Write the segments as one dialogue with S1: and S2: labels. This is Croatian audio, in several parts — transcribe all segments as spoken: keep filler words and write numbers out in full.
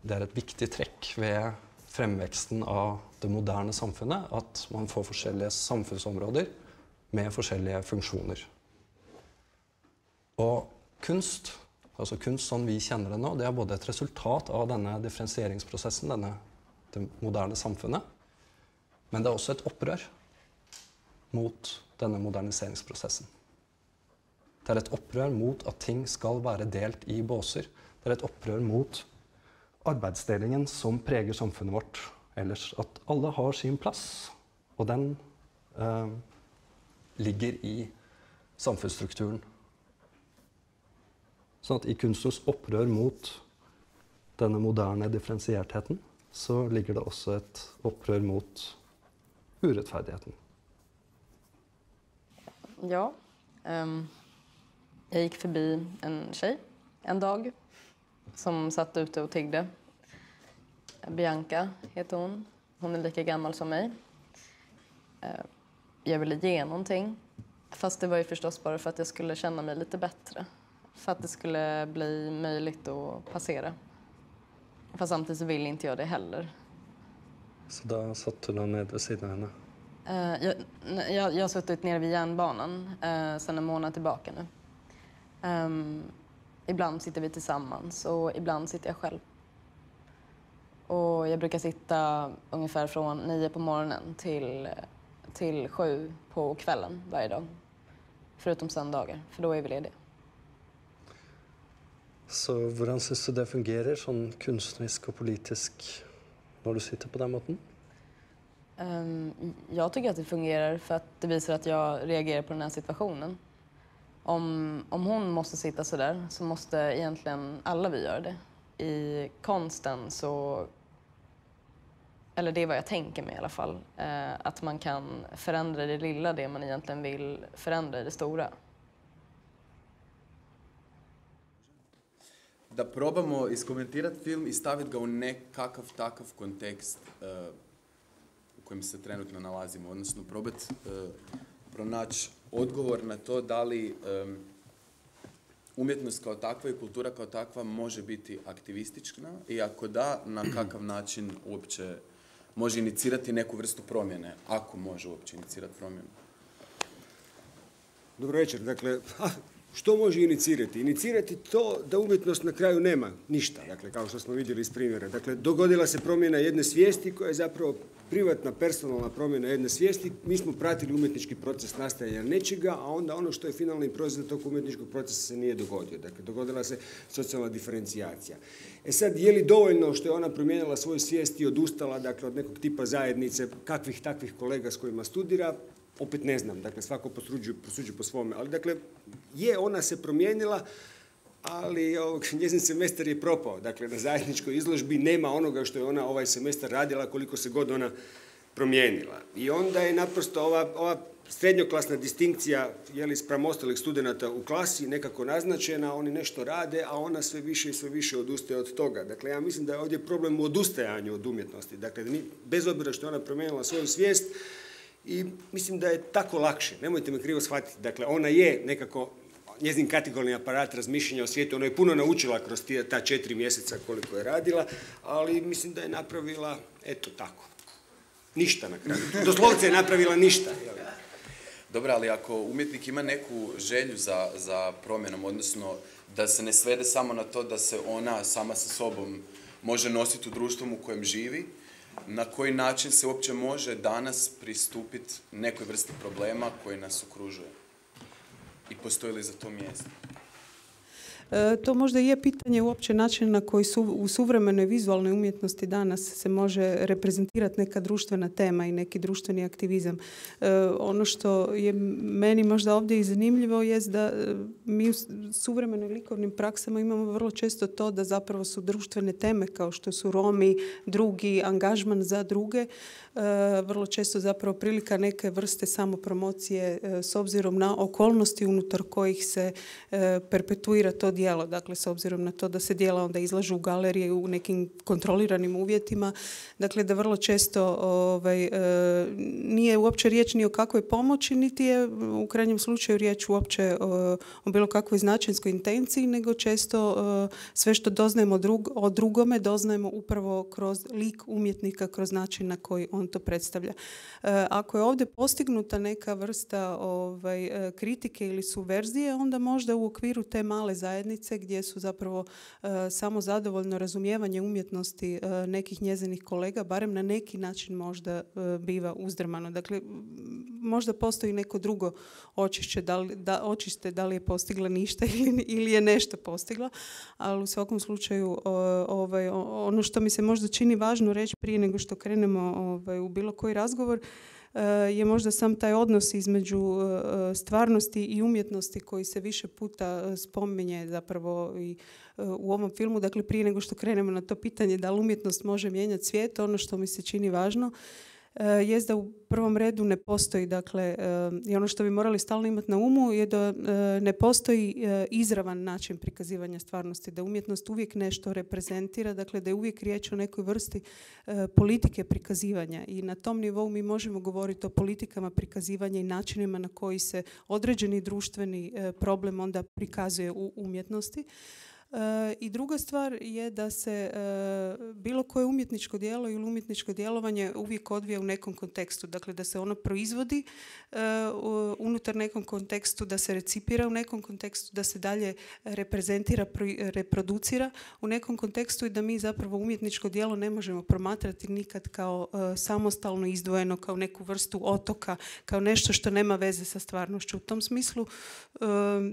S1: det er et viktig trekk ved fremveksten av det moderne samfunnet, at man får forskjellige samfunnsområder med forskjellige funksjoner. Og kunst, altså kunst som vi kjenner det nå, det er både et resultat av denne differensieringsprosessen, denne, det moderne samfunnet, men det er også et opprør mot denne moderniseringsprosessen. Det er et opprør mot at ting skal være delt i båser. Det er et opprør mot arbeidsdelingen som preger samfunnet vårt ellers. At alle har sin plass, og den eh, ligger i samfunnsstrukturen. Sånn at i kunstens opprør mot denne moderne differensiertheten, så ligger det også et opprør mot urettferdigheten.
S2: Ja, um, jag gick förbi en tjej en dag som satt ute och tiggde. Bianca heter hon. Hon är lika gammal som mig. Uh, jag ville ge någonting. Fast det var ju förstås bara för att jag skulle känna mig lite bättre. För att det skulle bli möjligt att passera. Fast samtidigt så vill inte jag det heller.
S1: Så då satt du då ned vid sidan av henne?
S2: Uh, jag, jag, jag har suttit nere vid järnbanan uh, sedan en månad tillbaka nu. Um, ibland sitter vi tillsammans och ibland sitter jag själv. Och jag brukar sitta ungefär från nio på morgonen till, till sju på kvällen varje dag. Förutom söndagar, för då är vi lediga.
S1: Så hvordan synes du det fungerer, sånn kunstnerisk og politisk, når du sitter på den måten?
S2: Um, jag tycker att det fungerar för att det visar att jag reagerar på den här situationen. Om, om hon måste sitta så där så måste egentligen alla vi göra det. I konsten så, eller det är vad jag tänker mig i alla fall, eh, att man kan förändra det lilla, det man egentligen vill förändra i det stora.
S3: Da probamo iskomentirati film i staviti ga u nekakav takav kontekst uh, u kojem se trenutno nalazimo, odnosno probati uh, pronaći odgovor na to da li um, umjetnost kao takva i kultura kao takva može biti aktivistična i ako da, na kakav način uopće može inicirati neku vrstu promjene, ako može uopće inicirati promjenu.
S4: Dobro večer. Dakle, što može inicirati? Inicirati to da umjetnost na kraju nema ništa, dakle, kao što smo vidjeli iz primjera. Dakle, dogodila se promjena jedne svijesti koja je zapravo privatna, personalna promjena jedne svijesti. Mi smo pratili umjetnički proces nastajanja nečega, a onda ono što je finalni proizvod tog umjetničkog procesa se nije dogodio. Dakle, dogodila se socijalna diferencijacija. E sad, je li dovoljno što je ona promijenila svoju svijest i odustala, dakle, od nekog tipa zajednice, kakvih takvih kolega s kojima studira? Opet ne znam, dakle, svako prosuđuje po svome. Ali, dakle, je, ona se promijenila, ali ovog, njezin semestar je propao. Dakle, na zajedničkoj izložbi nema onoga što je ona ovaj semestar radila, koliko se god ona promijenila. I onda je naprosto ova, ova srednjoklasna distinkcija, jeli, spram ostalih studenata u klasi nekako naznačena, oni nešto rade, a ona sve više i sve više odustaje od toga. Dakle, ja mislim da je ovdje problem u odustajanju od umjetnosti. Dakle, bez obzira što je ona promijenila svoju svijest, i mislim da je tako lakše. Nemojte me krivo shvatiti. Dakle, ona je nekako, njezin kategorni aparat razmišljanja o svijetu, ona je puno naučila kroz ta četiri mjeseca koliko je radila, ali mislim da je napravila, eto tako, ništa na kraju. Doslovce je napravila ništa.
S3: Dobro, ali ako umjetnik ima neku želju za, za promjenom, odnosno da se ne svede samo na to da se ona sama sa sobom može nositi u društvom u kojem živi, na koji način se uopće može danas pristupiti nekoj vrsti problema koji nas okružuje? I postoji li za to mjesto?
S5: E, to možda je pitanje uopće načina na koji su, u suvremenoj vizualnoj umjetnosti danas se može reprezentirati neka društvena tema i neki društveni aktivizam. E, ono što je meni možda ovdje i zanimljivo je da mi u suvremenoj likovnim praksama imamo vrlo često to da zapravo su društvene teme kao što su Romi, drugi, angažman za druge, e, vrlo često zapravo prilika neke vrste samopromocije e, s obzirom na okolnosti unutar kojih se e, perpetuira to djelo, dakle s obzirom na to da se djela onda izlažu u galerije u nekim kontroliranim uvjetima, dakle da vrlo često ovaj, e, nije uopće riječ ni o kakvoj pomoći, niti je u krajnjem slučaju riječ uopće o, o bilo kakvoj značajnoj intenciji, nego često e, sve što doznajemo drug, o drugome doznajemo upravo kroz lik umjetnika, kroz način na koji on to predstavlja. E, ako je ovdje postignuta neka vrsta ovaj, kritike ili subverzije, onda možda u okviru te male zajednice gdje su zapravo e, samo zadovoljno razumijevanje umjetnosti e, nekih njezinih kolega, barem na neki način možda e, biva uzdrmano. Dakle, možda postoji neko drugo očišće, da li, da, očiste da li je postigla ništa ili, ili je nešto postigla, ali u svakom slučaju o, ovaj, ono što mi se možda čini važno reći prije nego što krenemo ovaj, u bilo koji razgovor je možda sam taj odnos između stvarnosti i umjetnosti koji se više puta spominje zapravo i u ovom filmu. Dakle, prije nego što krenemo na to pitanje da li umjetnost može mijenjati svijet, ono što mi se čini važno jest da u prvom redu ne postoji, dakle, i ono što bi morali stalno imati na umu je da ne postoji izravan način prikazivanja stvarnosti, da umjetnost uvijek nešto reprezentira, dakle da je uvijek riječ o nekoj vrsti politike prikazivanja i na tom nivou mi možemo govoriti o politikama prikazivanja i načinima na koji se određeni društveni problem onda prikazuje u umjetnosti. I druga stvar je da se bilo koje umjetničko djelo ili umjetničko djelovanje uvijek odvija u nekom kontekstu. Dakle, da se ono proizvodi unutar nekom kontekstu, da se recipira u nekom kontekstu, da se dalje reprezentira, reproducira u nekom kontekstu i da mi zapravo umjetničko djelo ne možemo promatrati nikad kao samostalno izdvojeno, kao neku vrstu otoka, kao nešto što nema veze sa stvarnošću. U tom smislu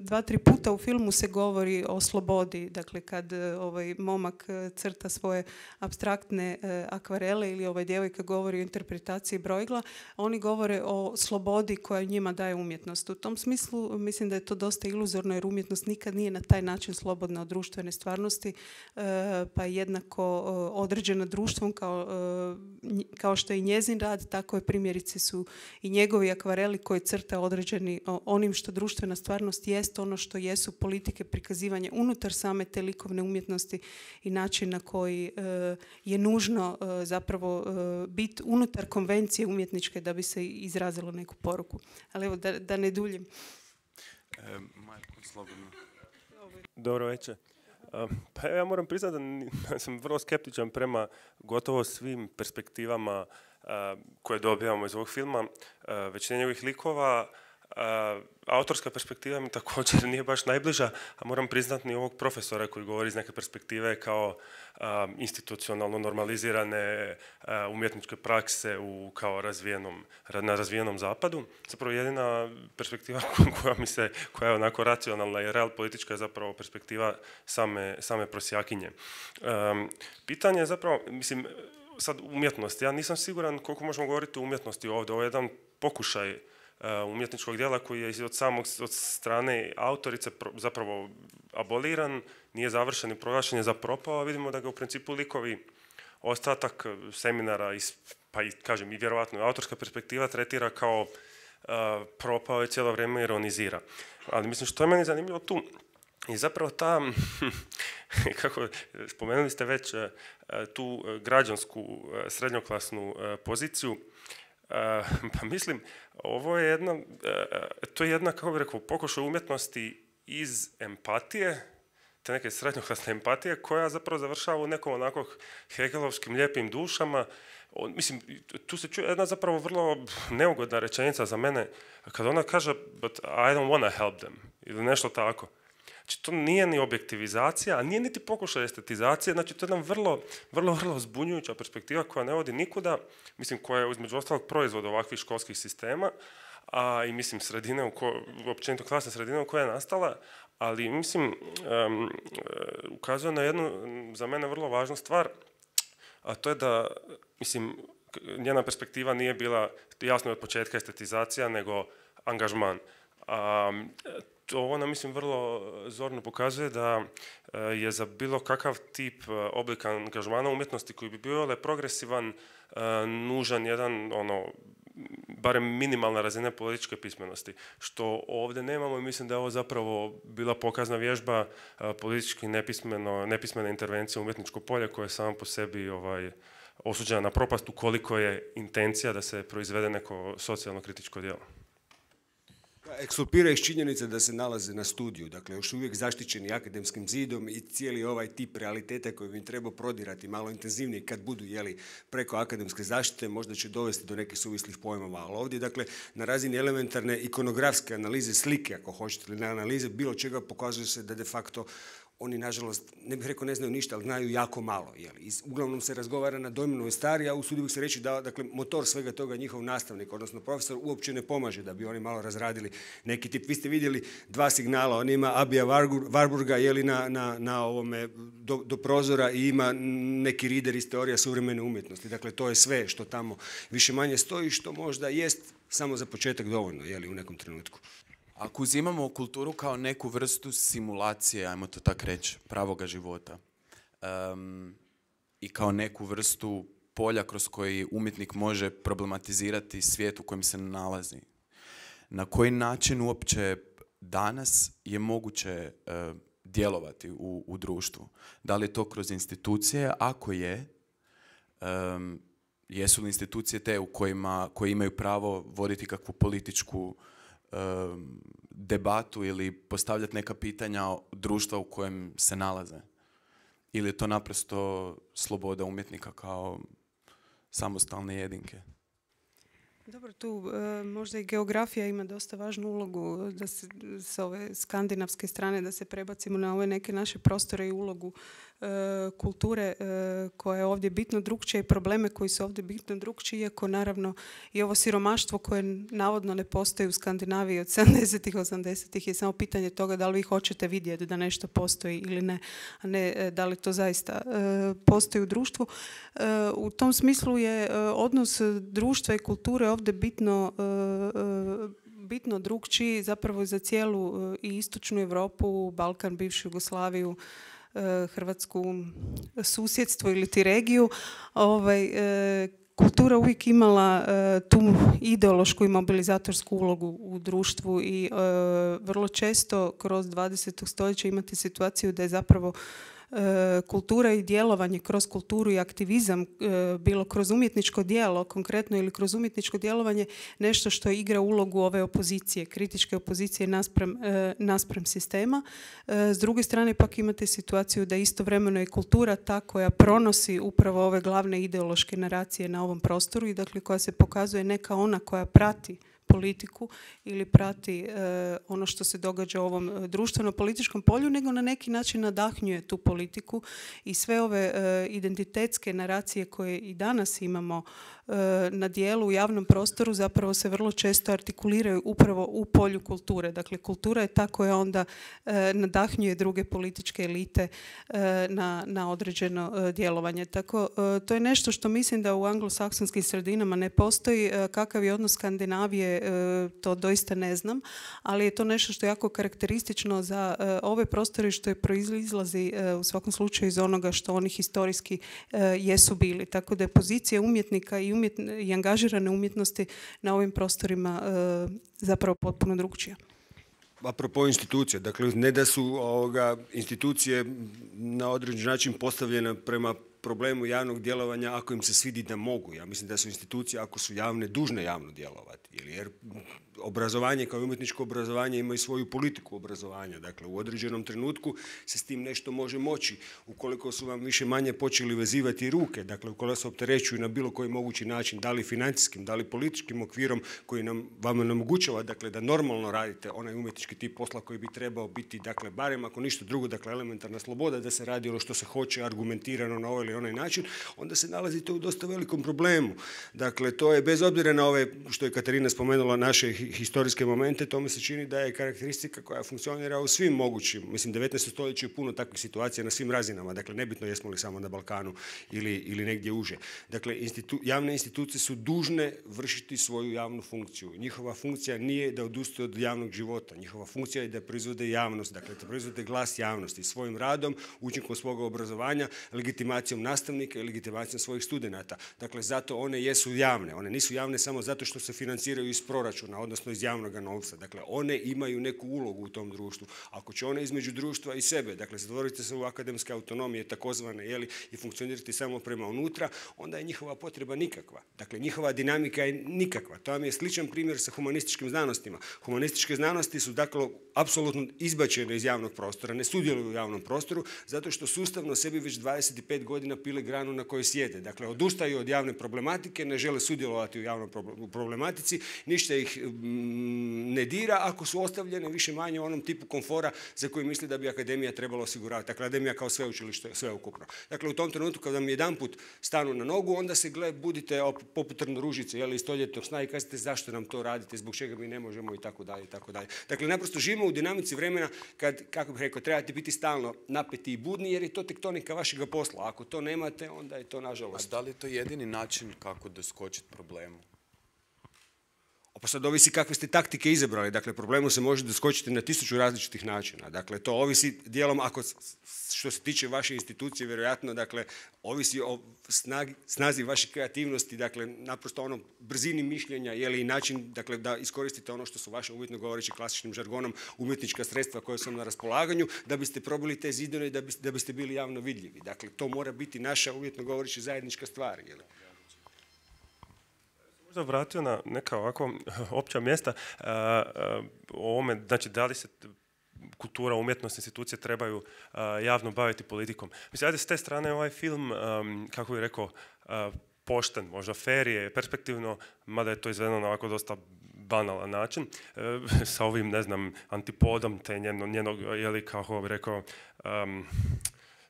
S5: dva, tri puta u filmu se govori o slobodi. Dakle, kad ovaj momak crta svoje apstraktne akvarele ili ovaj djevojka govori o interpretaciji brojila, oni govore o slobodi koja njima daje umjetnost. U tom smislu mislim da je to dosta iluzorno jer umjetnost nikad nije na taj način slobodna od društvene stvarnosti, pa je jednako određena društvom kao, kao što je i njezin rad, tako je primjerice su i njegovi akvareli koji crta određeni onim što društvena stvarnost jest, ono što jesu politike prikazivanja unutar same te likovne umjetnosti i način na koji uh, je nužno uh, zapravo uh, biti unutar konvencije umjetničke da bi se izrazilo neku poruku. Ali evo, da, da ne duljim.
S6: E, Marko, slobodno. Dobro večer. Uh, pa ja moram priznati da sam vrlo skeptičan prema gotovo svim perspektivama uh, koje dobijamo iz ovog filma. Uh, većina njegovih likova, Uh, autorska perspektiva mi također nije baš najbliža, a moram priznati ni ovog profesora koji govori iz neke perspektive kao uh, institucionalno normalizirane uh, umjetničke prakse u kao razvijenom, na razvijenom zapadu. Zapravo jedina perspektiva koja mi se, koja je onako racionalna i real politička je zapravo perspektiva same, same prosjakinje. Um, pitanje je zapravo, mislim, sad umjetnost. Ja nisam siguran koliko možemo govoriti o umjetnosti ovdje. Ovo je jedan pokušaj umjetničkog djela koji je od samog od strane autorice zapravo aboliran, nije završen i proglašen je za propao, a vidimo da ga u principu likovi ostatak seminara, pa i kažem i vjerovatno autorska perspektiva tretira kao uh, propao i cijelo vrijeme ironizira. Ali mislim što je meni zanimljivo tu i zapravo ta, kako spomenuli ste već tu građansku srednjoklasnu poziciju. Uh, pa mislim, ovo je jedna, uh, to je jedna, kako bih rekao, pokušaj umjetnosti iz empatije, te neke srednjoklasne empatije, koja zapravo završava u nekom onako hegelovskim lijepim dušama. On, mislim, tu se čuje jedna zapravo vrlo neugodna rečenica za mene, kada ona kaže, but I don't want to help them, ili nešto tako. Znači, to nije ni objektivizacija, a nije niti pokušaj estetizacije, znači to je jedna vrlo, vrlo, vrlo zbunjujuća perspektiva koja ne vodi nikuda, mislim, koja je između ostalog proizvod ovakvih školskih sistema, a i mislim sredine, u ko, općenito klasne sredine u kojoj je nastala, ali mislim, um, ukazuje na jednu, za mene, vrlo važnu stvar, a to je da, mislim, njena perspektiva nije bila jasno od početka estetizacija, nego angažman. Um, To ona, mislim, vrlo zorno pokazuje da je za bilo kakav tip oblika angažmana umjetnosti koji bi bio progresivan, nužan jedan ono, barem minimalna razina političke pismenosti, što ovdje nemamo i mislim da je ovo zapravo bila pokazna vježba politički nepismeno, nepismena intervencija u umjetničko polje koja je sama po sebi ovaj, osuđena na propast ukoliko je intencija da se proizvede neko socijalno kritičko djelo.
S4: Ekskulpira iz činjenice da se nalaze na studiju, dakle još uvijek zaštićeni akademskim zidom i cijeli ovaj tip realiteta koji bi im trebao prodirati malo intenzivnije kad budu jeli preko akademske zaštite, možda će dovesti do nekih suvislih pojmova, ali ovdje dakle na razini elementarne ikonografske analize slike, ako hoćete, ili na analize bilo čega pokazuje se da de facto oni, nažalost, ne bih rekao ne znaju ništa, ali znaju jako malo. Jeli. Uglavnom se razgovara na Dojminovoj stari, a usudio bih se reći da dakle, motor svega toga njihov nastavnik, odnosno profesor, uopće ne pomaže da bi oni malo razradili neki tip. Vi ste vidjeli dva signala, on ima Abija Warburga jeli, na, na, na ovome, do, do prozora i ima neki reader iz teorija suvremene umjetnosti. Dakle, to je sve što tamo više manje stoji, što možda jest samo za početak dovoljno jeli, u nekom trenutku.
S3: Ako uzimamo kulturu kao neku vrstu simulacije, ajmo to tako reći, pravoga života, um, i kao neku vrstu polja kroz koji umjetnik može problematizirati svijet u kojem se nalazi, na koji način uopće danas je moguće uh, djelovati u, u društvu? Da li je to kroz institucije? Ako je, um, jesu li institucije te u kojima, koje imaju pravo voditi kakvu političku debatu ili postavljati neka pitanja društva u kojem se nalaze? Ili je to naprosto sloboda umjetnika kao samostalne jedinke?
S5: Dobro, tu e, možda i geografija ima dosta važnu ulogu da se s ove skandinavske strane da se prebacimo na ove neke naše prostore i ulogu e, kulture e, koja je ovdje bitno drukčija i probleme koji su ovdje bitno drukčiji, iako naravno i ovo siromaštvo koje navodno ne postoji u Skandinaviji od sedamdesetih, osamdesetih je samo pitanje toga da li vi hoćete vidjeti da nešto postoji ili ne, a ne da li to zaista e, postoji u društvu. E, u tom smislu je e, odnos društva i kulture ovdje bitno, bitno drukčiji zapravo za cijelu i istočnu Europu, Balkan, bivšu Jugoslaviju, Hrvatsku, susjedstvo ili ti regiju. Ovaj, kultura uvijek imala tu ideološku i mobilizatorsku ulogu u društvu i vrlo često kroz dvadeseto stoljeće imate situaciju da je zapravo kultura i djelovanje kroz kulturu i aktivizam, bilo kroz umjetničko djelo konkretno ili kroz umjetničko djelovanje, nešto što igra ulogu ove opozicije, kritičke opozicije naspram, naspram sistema. S druge strane pak imate situaciju da istovremeno je kultura ta koja pronosi upravo ove glavne ideološke naracije na ovom prostoru i dakle koja se pokazuje ne kao ona koja prati politiku ili prati e, ono što se događa u ovom društveno-političkom polju, nego na neki način nadahnjuje tu politiku i sve ove e, identitetske naracije koje i danas imamo e, na dijelu u javnom prostoru zapravo se vrlo često artikuliraju upravo u polju kulture. Dakle, kultura je ta koja onda e, nadahnjuje druge političke elite e, na, na određeno e, djelovanje. Tako, e, to je nešto što mislim da u anglosaksonskim sredinama ne postoji. E, kakav je odnos Skandinavije, to doista ne znam, ali je to nešto što je jako karakteristično za ove prostore što je proizlazi u svakom slučaju iz onoga što oni historijski jesu bili. Tako da je pozicija umjetnika i, umjetn- i angažirane umjetnosti na ovim prostorima zapravo potpuno drukčija.
S4: Apropo institucija, dakle ne da su ovoga, institucije na određen način postavljene prema problemu javnog djelovanja ako im se svidi da mogu. Ja mislim da su institucije, ako su javne, dužne javno djelovati. Jer obrazovanje kao umjetničko obrazovanje ima i svoju politiku obrazovanja. Dakle, u određenom trenutku se s tim nešto može moći. Ukoliko su vam više manje počeli vezivati ruke, dakle, ukoliko se opterećuju na bilo koji mogući način, da li financijskim, da li političkim okvirom koji nam, vam omogućava dakle, da normalno radite onaj umjetnički tip posla koji bi trebao biti, dakle, barem ako ništa drugo, dakle, elementarna sloboda da se radi ono što se hoće argumentirano na ovaj ili onaj način, onda se nalazite u dosta velikom problemu. Dakle, to je bez obzira na ove, što je Katarina spomenula, naše historijske momente, to mi se čini da je karakteristika koja funkcionira u svim mogućim, mislim, devetnaestom stoljeću je puno takvih situacija na svim razinama, dakle, nebitno jesmo li samo na Balkanu ili, ili negdje uže. Dakle, institu, javne institucije su dužne vršiti svoju javnu funkciju. Njihova funkcija nije da odustaju od javnog života, njihova funkcija je da proizvode javnost, dakle, da proizvode glas javnosti svojim radom, učinkom svoga obrazovanja, legitimacijom nastavnika i legitimacijom svojih studenata. Dakle, zato one jesu javne. One nisu javne samo zato što se financiraju iz proračuna, odnosno iz javnog novca. Dakle, one imaju neku ulogu u tom društvu. Ako će one između društva i sebe, dakle, zatvorite se u akademske autonomije, takozvane, jeli, i funkcionirati samo prema unutra, onda je njihova potreba nikakva. Dakle, njihova dinamika je nikakva. To vam je sličan primjer sa humanističkim znanostima. Humanističke znanosti su, dakle, apsolutno izbačene iz javnog prostora, ne sudjeluju u javnom prostoru, zato što sustavno sebi već dvadeset pet godina pile granu na kojoj sjede. Dakle, odustaju od javne problematike, ne žele sudjelovati u javnoj problematici, ništa ih ne dira ako su ostavljene više manje u onom tipu komfora za koji misli da bi akademija trebala osiguravati. Dakle, akademija kao sveučilište sveukupno. Dakle, u tom trenutku kada vam jedanput stanu na nogu, onda se gle, budite poput Trnoružice, jeli, iz stoljetnog sna i kažete zašto nam to radite, zbog čega mi ne možemo i tako dalje i tako dalje. Dakle, naprosto živimo u dinamici vremena kad, kako bih rekao, trebate biti stalno napeti i budni jer je to tektonika vašega posla. Ako to nemate, onda je to nažalost.
S3: A da li je to jedini način kako doskočiti problemu?
S4: Pa sad ovisi kakve ste taktike izabrali. Dakle, problemu se može doskočiti na tisuću različitih načina. Dakle, to ovisi dijelom, ako što se tiče vaše institucije, vjerojatno, dakle, ovisi o snagi, snazi vaše kreativnosti, dakle, naprosto ono brzini mišljenja, je li i način, dakle, da iskoristite ono što su vaše, uvjetno govoreći klasičnim žargonom, umjetnička sredstva koja su na raspolaganju, da biste probili te zidine i da biste, da biste bili javno vidljivi. Dakle, to mora biti naša, uvjetno govoreći, zajednička stvar, je li?
S6: Možda vratio na neka ovako opća mjesta uh, uh, o ovome, znači da li se kultura, umjetnost, institucije trebaju uh, javno baviti politikom. Mislim, ajde s te strane ovaj film, um, kako bih rekao, uh, pošten, možda fair je, perspektivno, mada je to izvedeno na ovako dosta banalan način, uh, sa ovim, ne znam, antipodom te njeno, njenog, jeli, kako bih rekao, um,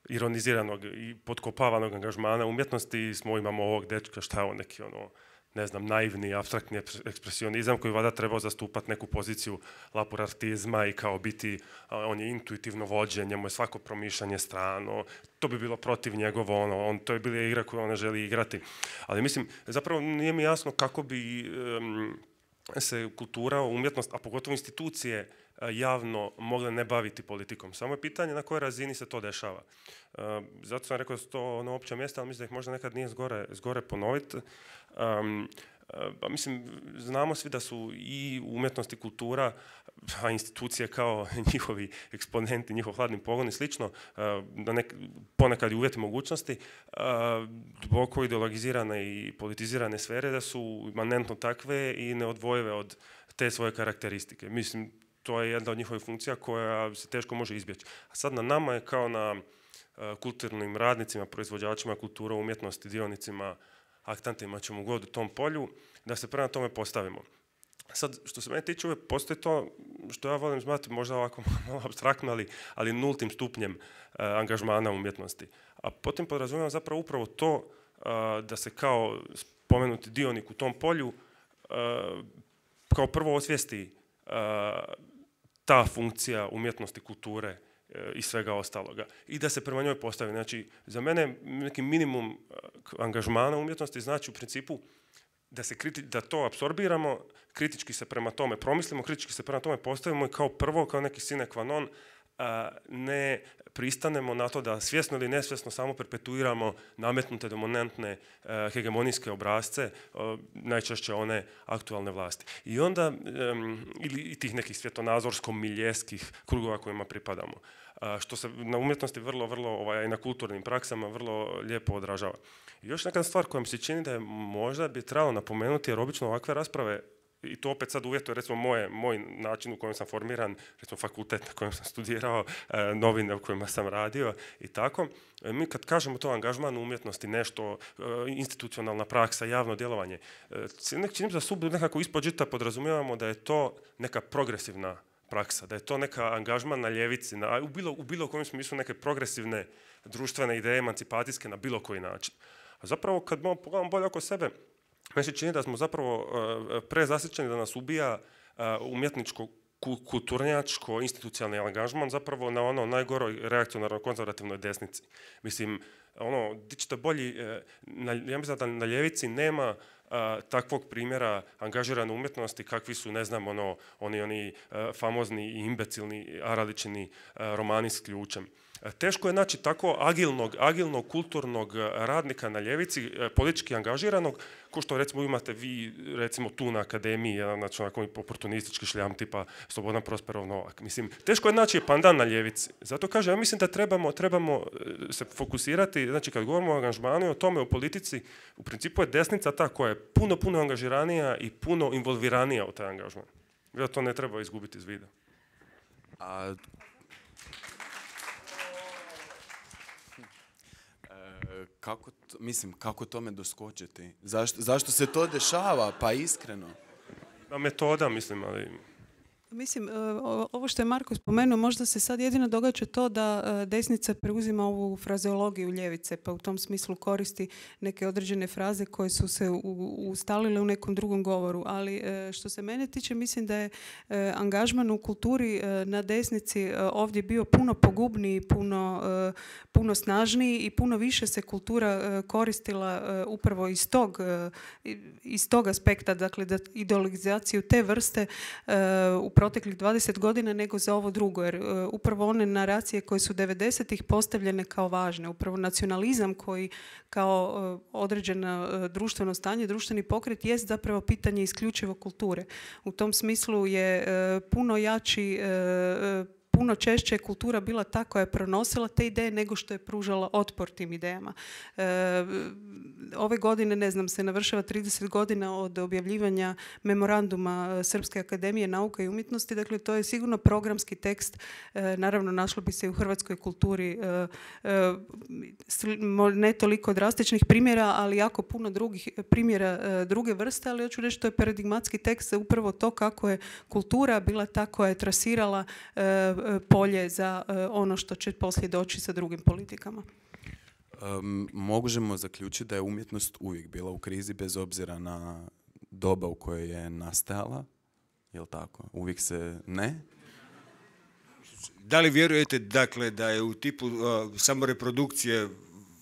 S6: ironiziranog i potkopavanog angažmana umjetnosti, smo imamo ovog dečka, šta je on, neki ono, ne znam, naivni, apstraktni ekspresionizam koji vada trebao zastupati neku poziciju laporartizma i kao biti, on je intuitivno vođen, njemu je svako promišljanje strano, to bi bilo protiv njegovo, ono, on, to je bila igra koju on ne želi igrati. Ali mislim, zapravo nije mi jasno kako bi um, se kultura, umjetnost, a pogotovo institucije javno mogle ne baviti politikom. Samo je pitanje na kojoj razini se to dešava. Uh, zato sam rekao da su to ono opća mjesta, ali mislim da ih možda nekad nije zgore, zgore ponoviti. Um, uh, mislim, znamo svi da su i umjetnost i kultura, a institucije kao njihovi eksponenti, njihov hladni pogon i slično, uh, da nek, ponekad i uvjeti mogućnosti, uh, duboko ideologizirane i politizirane sfere, da su imanentno takve i neodvojive od te svoje karakteristike. Mislim, to je jedna od njihovih funkcija koja se teško može izbjeći. A sad na nama je kao na uh, kulturnim radnicima, proizvođačima kultura, umjetnosti, dionicima, aktantima, ćemo god u tom polju, da se prema tome postavimo. Sad, što se mene tiče, uvijek postoji to što ja volim zvati možda ovako malo apstraktno, ali, ali nultim stupnjem uh, angažmana umjetnosti. A potom podrazumijem zapravo upravo to uh, da se kao spomenuti dionik u tom polju uh, kao prvo osvijesti uh, ta funkcija umjetnosti, kulture i svega ostaloga. I da se prema njoj postavi. Znači, za mene neki minimum angažmana umjetnosti znači u principu da, se kriti, da to apsorbiramo, kritički se prema tome promislimo, kritički se prema tome postavimo i kao prvo, kao neki sine qua non, ne pristanemo na to da svjesno ili nesvjesno samo perpetuiramo nametnute dominantne hegemonijske obrazce, najčešće one aktualne vlasti. I onda, ili i tih nekih svjetonazorsko-miljeskih krugova kojima pripadamo. Što se na umjetnosti vrlo, vrlo, ovaj, i na kulturnim praksama vrlo lijepo odražava. I još neka stvar koja mi se čini da je možda bi trebalo napomenuti, jer obično ovakve rasprave, i to opet sad uvjetuje recimo moje, moj način u kojem sam formiran, recimo fakultet na kojem sam studirao, novine u kojima sam radio i tako. Mi kad kažemo to angažman u umjetnosti, nešto, institucionalna praksa, javno djelovanje, čini da sub nekako ispod žita podrazumijevamo da je to neka progresivna praksa, da je to neka angažman na ljevici, na, u, bilo, u bilo kojem smislu neke progresivne društvene ideje, emancipacijske na bilo koji način. A zapravo kad pogledamo bolje oko sebe, meni se čini da smo zapravo uh, prezasićeni da nas ubija uh, umjetničko, kulturnjačko, institucionalni angažman zapravo na ono najgoroj reakcionarno-konzervativnoj desnici. Mislim, ono, di ćete bolji, na, ja mislim da na ljevici nema a, takvog primjera angažirane umjetnosti kakvi su, ne znam, ono, oni, oni a, famozni i imbecilni Araličini romani s ključem. Teško je naći tako agilnog, agilnog kulturnog radnika na ljevici, politički angažiranog, ko što recimo imate vi, recimo tu na akademiji, jedan znači onako oportunistički šljam tipa Slobodan Prosperov Novak. Mislim, teško je naći pandan na ljevici. Zato kažem, ja mislim da trebamo, trebamo se fokusirati, znači kad govorimo o angažmanu i o tome u politici, u principu je desnica ta koja je puno, puno angažiranija i puno involviranija u taj angažman. Ja to ne treba izgubiti iz vida.
S3: A kako, to, mislim, kako tome doskočiti? Zašto, zašto se to dešava? Pa iskreno.
S6: Da, metoda, mislim, ali...
S5: Mislim, ovo što je Marko spomenuo, možda se sad jedino događa to da desnica preuzima ovu frazeologiju ljevice, pa u tom smislu koristi neke određene fraze koje su se ustalile u nekom drugom govoru. Ali što se mene tiče, mislim da je angažman u kulturi na desnici ovdje bio puno pogubniji, puno, puno snažniji i puno više se kultura koristila upravo iz tog, iz tog aspekta, dakle da ideologizaciju te vrste u proteklih dvadeset godina nego za ovo drugo, jer uh, upravo one naracije koje su devedesetih postavljene kao važne, upravo nacionalizam koji kao uh, određeno uh, društveno stanje, društveni pokret jest zapravo pitanje isključivo kulture. U tom smislu je uh, puno jači uh, puno češće je kultura bila ta koja je pronosila te ideje nego što je pružala otpor tim idejama. E, ove godine, ne znam, se navršava trideset godina od objavljivanja memoranduma Srpske akademije nauka i umjetnosti. Dakle, to je sigurno programski tekst. E, naravno, našlo bi se i u hrvatskoj kulturi e, e, ne toliko drastičnih primjera, ali jako puno drugih primjera e, druge vrste, ali hoću reći to je paradigmatski tekst upravo to kako je kultura bila ta koja je trasirala e, polje za ono što će poslije doći sa drugim politikama.
S3: Um, možemo zaključiti da je umjetnost uvijek bila u krizi bez obzira na doba u kojoj je nastajala. Jel' tako? Uvijek se ne?
S4: Da li vjerujete dakle da je u tipu uh, samoreprodukcije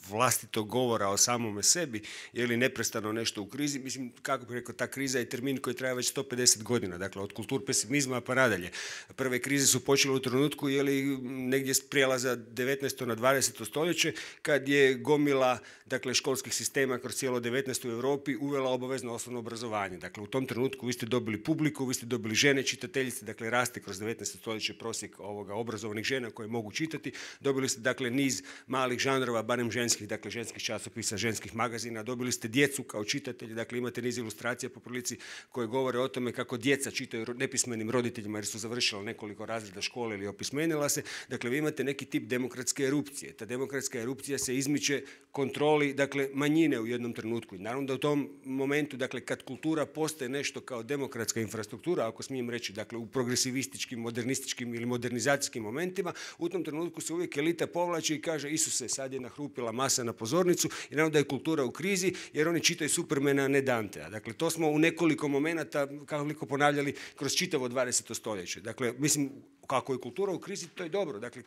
S4: vlastitog govora o samome sebi, je li neprestano nešto u krizi? Mislim, kako bih rekao, ta kriza je termin koji traje već sto pedeset godina, dakle od kultur pesimizma pa nadalje. Prve krize su počele u trenutku, je li negdje s prijelaza devetnaesto na dvadeseto stoljeće, kad je gomila dakle, školskih sistema kroz cijelo devetnaesto u Europi uvela obavezno osnovno obrazovanje. Dakle, u tom trenutku vi ste dobili publiku, vi ste dobili žene čitateljice, dakle raste kroz devetnaesto stoljeće prosjek ovoga obrazovanih žena koje mogu čitati. Dobili ste dakle niz malih žanrova, barem ženskih, dakle ženskih časopisa, ženskih magazina, dobili ste djecu kao čitatelji, dakle imate niz ilustracija po prilici koje govore o tome kako djeca čitaju nepismenim roditeljima jer su završila nekoliko razreda škole ili opismenila se. Dakle, vi imate neki tip demokratske erupcije. Ta demokratska erupcija se izmiče kontroli, dakle, manjine u jednom trenutku. I naravno da u tom momentu, dakle, kad kultura postaje nešto kao demokratska infrastruktura, ako smijem reći, dakle, u progresivističkim, modernističkim ili modernizacijskim momentima, u tom trenutku se uvijek elita povlači i kaže Isuse, sad je nahrupila masa na pozornicu i naravno da je kultura u krizi jer oni čitaju Supermana, a ne Dantea. Dakle, to smo u nekoliko momenata, kako ponavljali, kroz čitavo dvadeseto stoljeće. Dakle, mislim, kako je kultura u krizi, to je dobro. Dakle,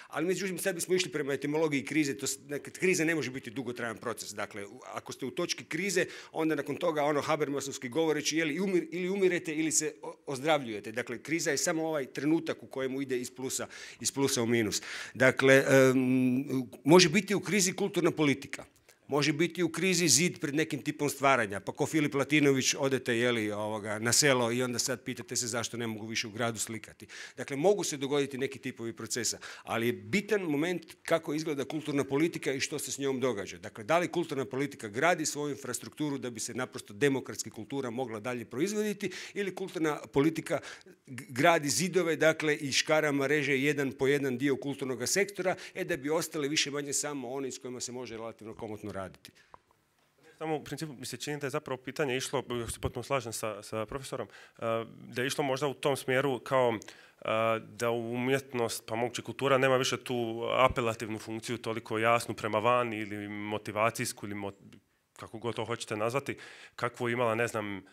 S4: ali međutim, sad bismo išli prema etimologiji krize. To, dakle, kriza ne može biti dugotrajan proces. Dakle, ako ste u točki krize, onda nakon toga, ono Habermasovski govoreći, je li umir, ili umirete ili se ozdravljujete. Dakle, kriza je samo ovaj trenutak u kojemu ide iz plusa, iz plusa u minus. Dakle, um, može biti u krizi kulturna politika. Može biti u krizi zid pred nekim tipom stvaranja, pa ko Filip Latinović odete jeli, ovoga, na selo i onda sad pitate se zašto ne mogu više u gradu slikati. Dakle, mogu se dogoditi neki tipovi procesa, ali je bitan moment kako izgleda kulturna politika i što se s njom događa. Dakle, da li kulturna politika gradi svoju infrastrukturu da bi se naprosto demokratski kultura mogla dalje proizvoditi ili kulturna politika gradi zidove, dakle, i škarama reže jedan po jedan dio kulturnog sektora, e da bi ostali više manje samo oni s kojima se može relativno komotno raditi. raditi.
S6: Samo u principu mi se čini da je zapravo pitanje išlo, se potpuno slažem sa, sa profesorom, da je išlo možda u tom smjeru kao da umjetnost, pa moguće kultura nema više tu apelativnu funkciju toliko jasnu prema van ili motivacijsku ili mot, kako god to hoćete nazvati, kakvu imala, ne znam,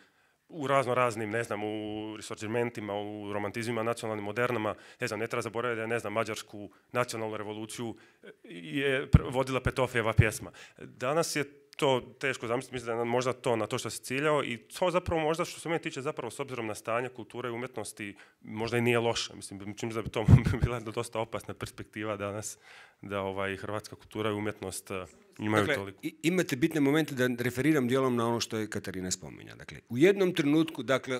S6: u razno raznim, ne znam, u resorđimentima, u romantizmima, nacionalnim modernama, ne znam, ne treba zaboraviti da je, ne znam, mađarsku nacionalnu revoluciju je vodila Petofijeva pjesma. Danas je to teško zamisliti, mislim da je možda to na to što se ciljao i to zapravo možda što se mene tiče zapravo s obzirom na stanje kulture i umjetnosti možda i nije loše. Mislim, čim da bi to bila dosta opasna perspektiva danas da ovaj, hrvatska kultura i umjetnost imaju
S4: dakle,
S6: toliko.
S4: Imate bitne momente da referiram dijelom na ono što je Katarina spominja. Dakle, u jednom trenutku, dakle,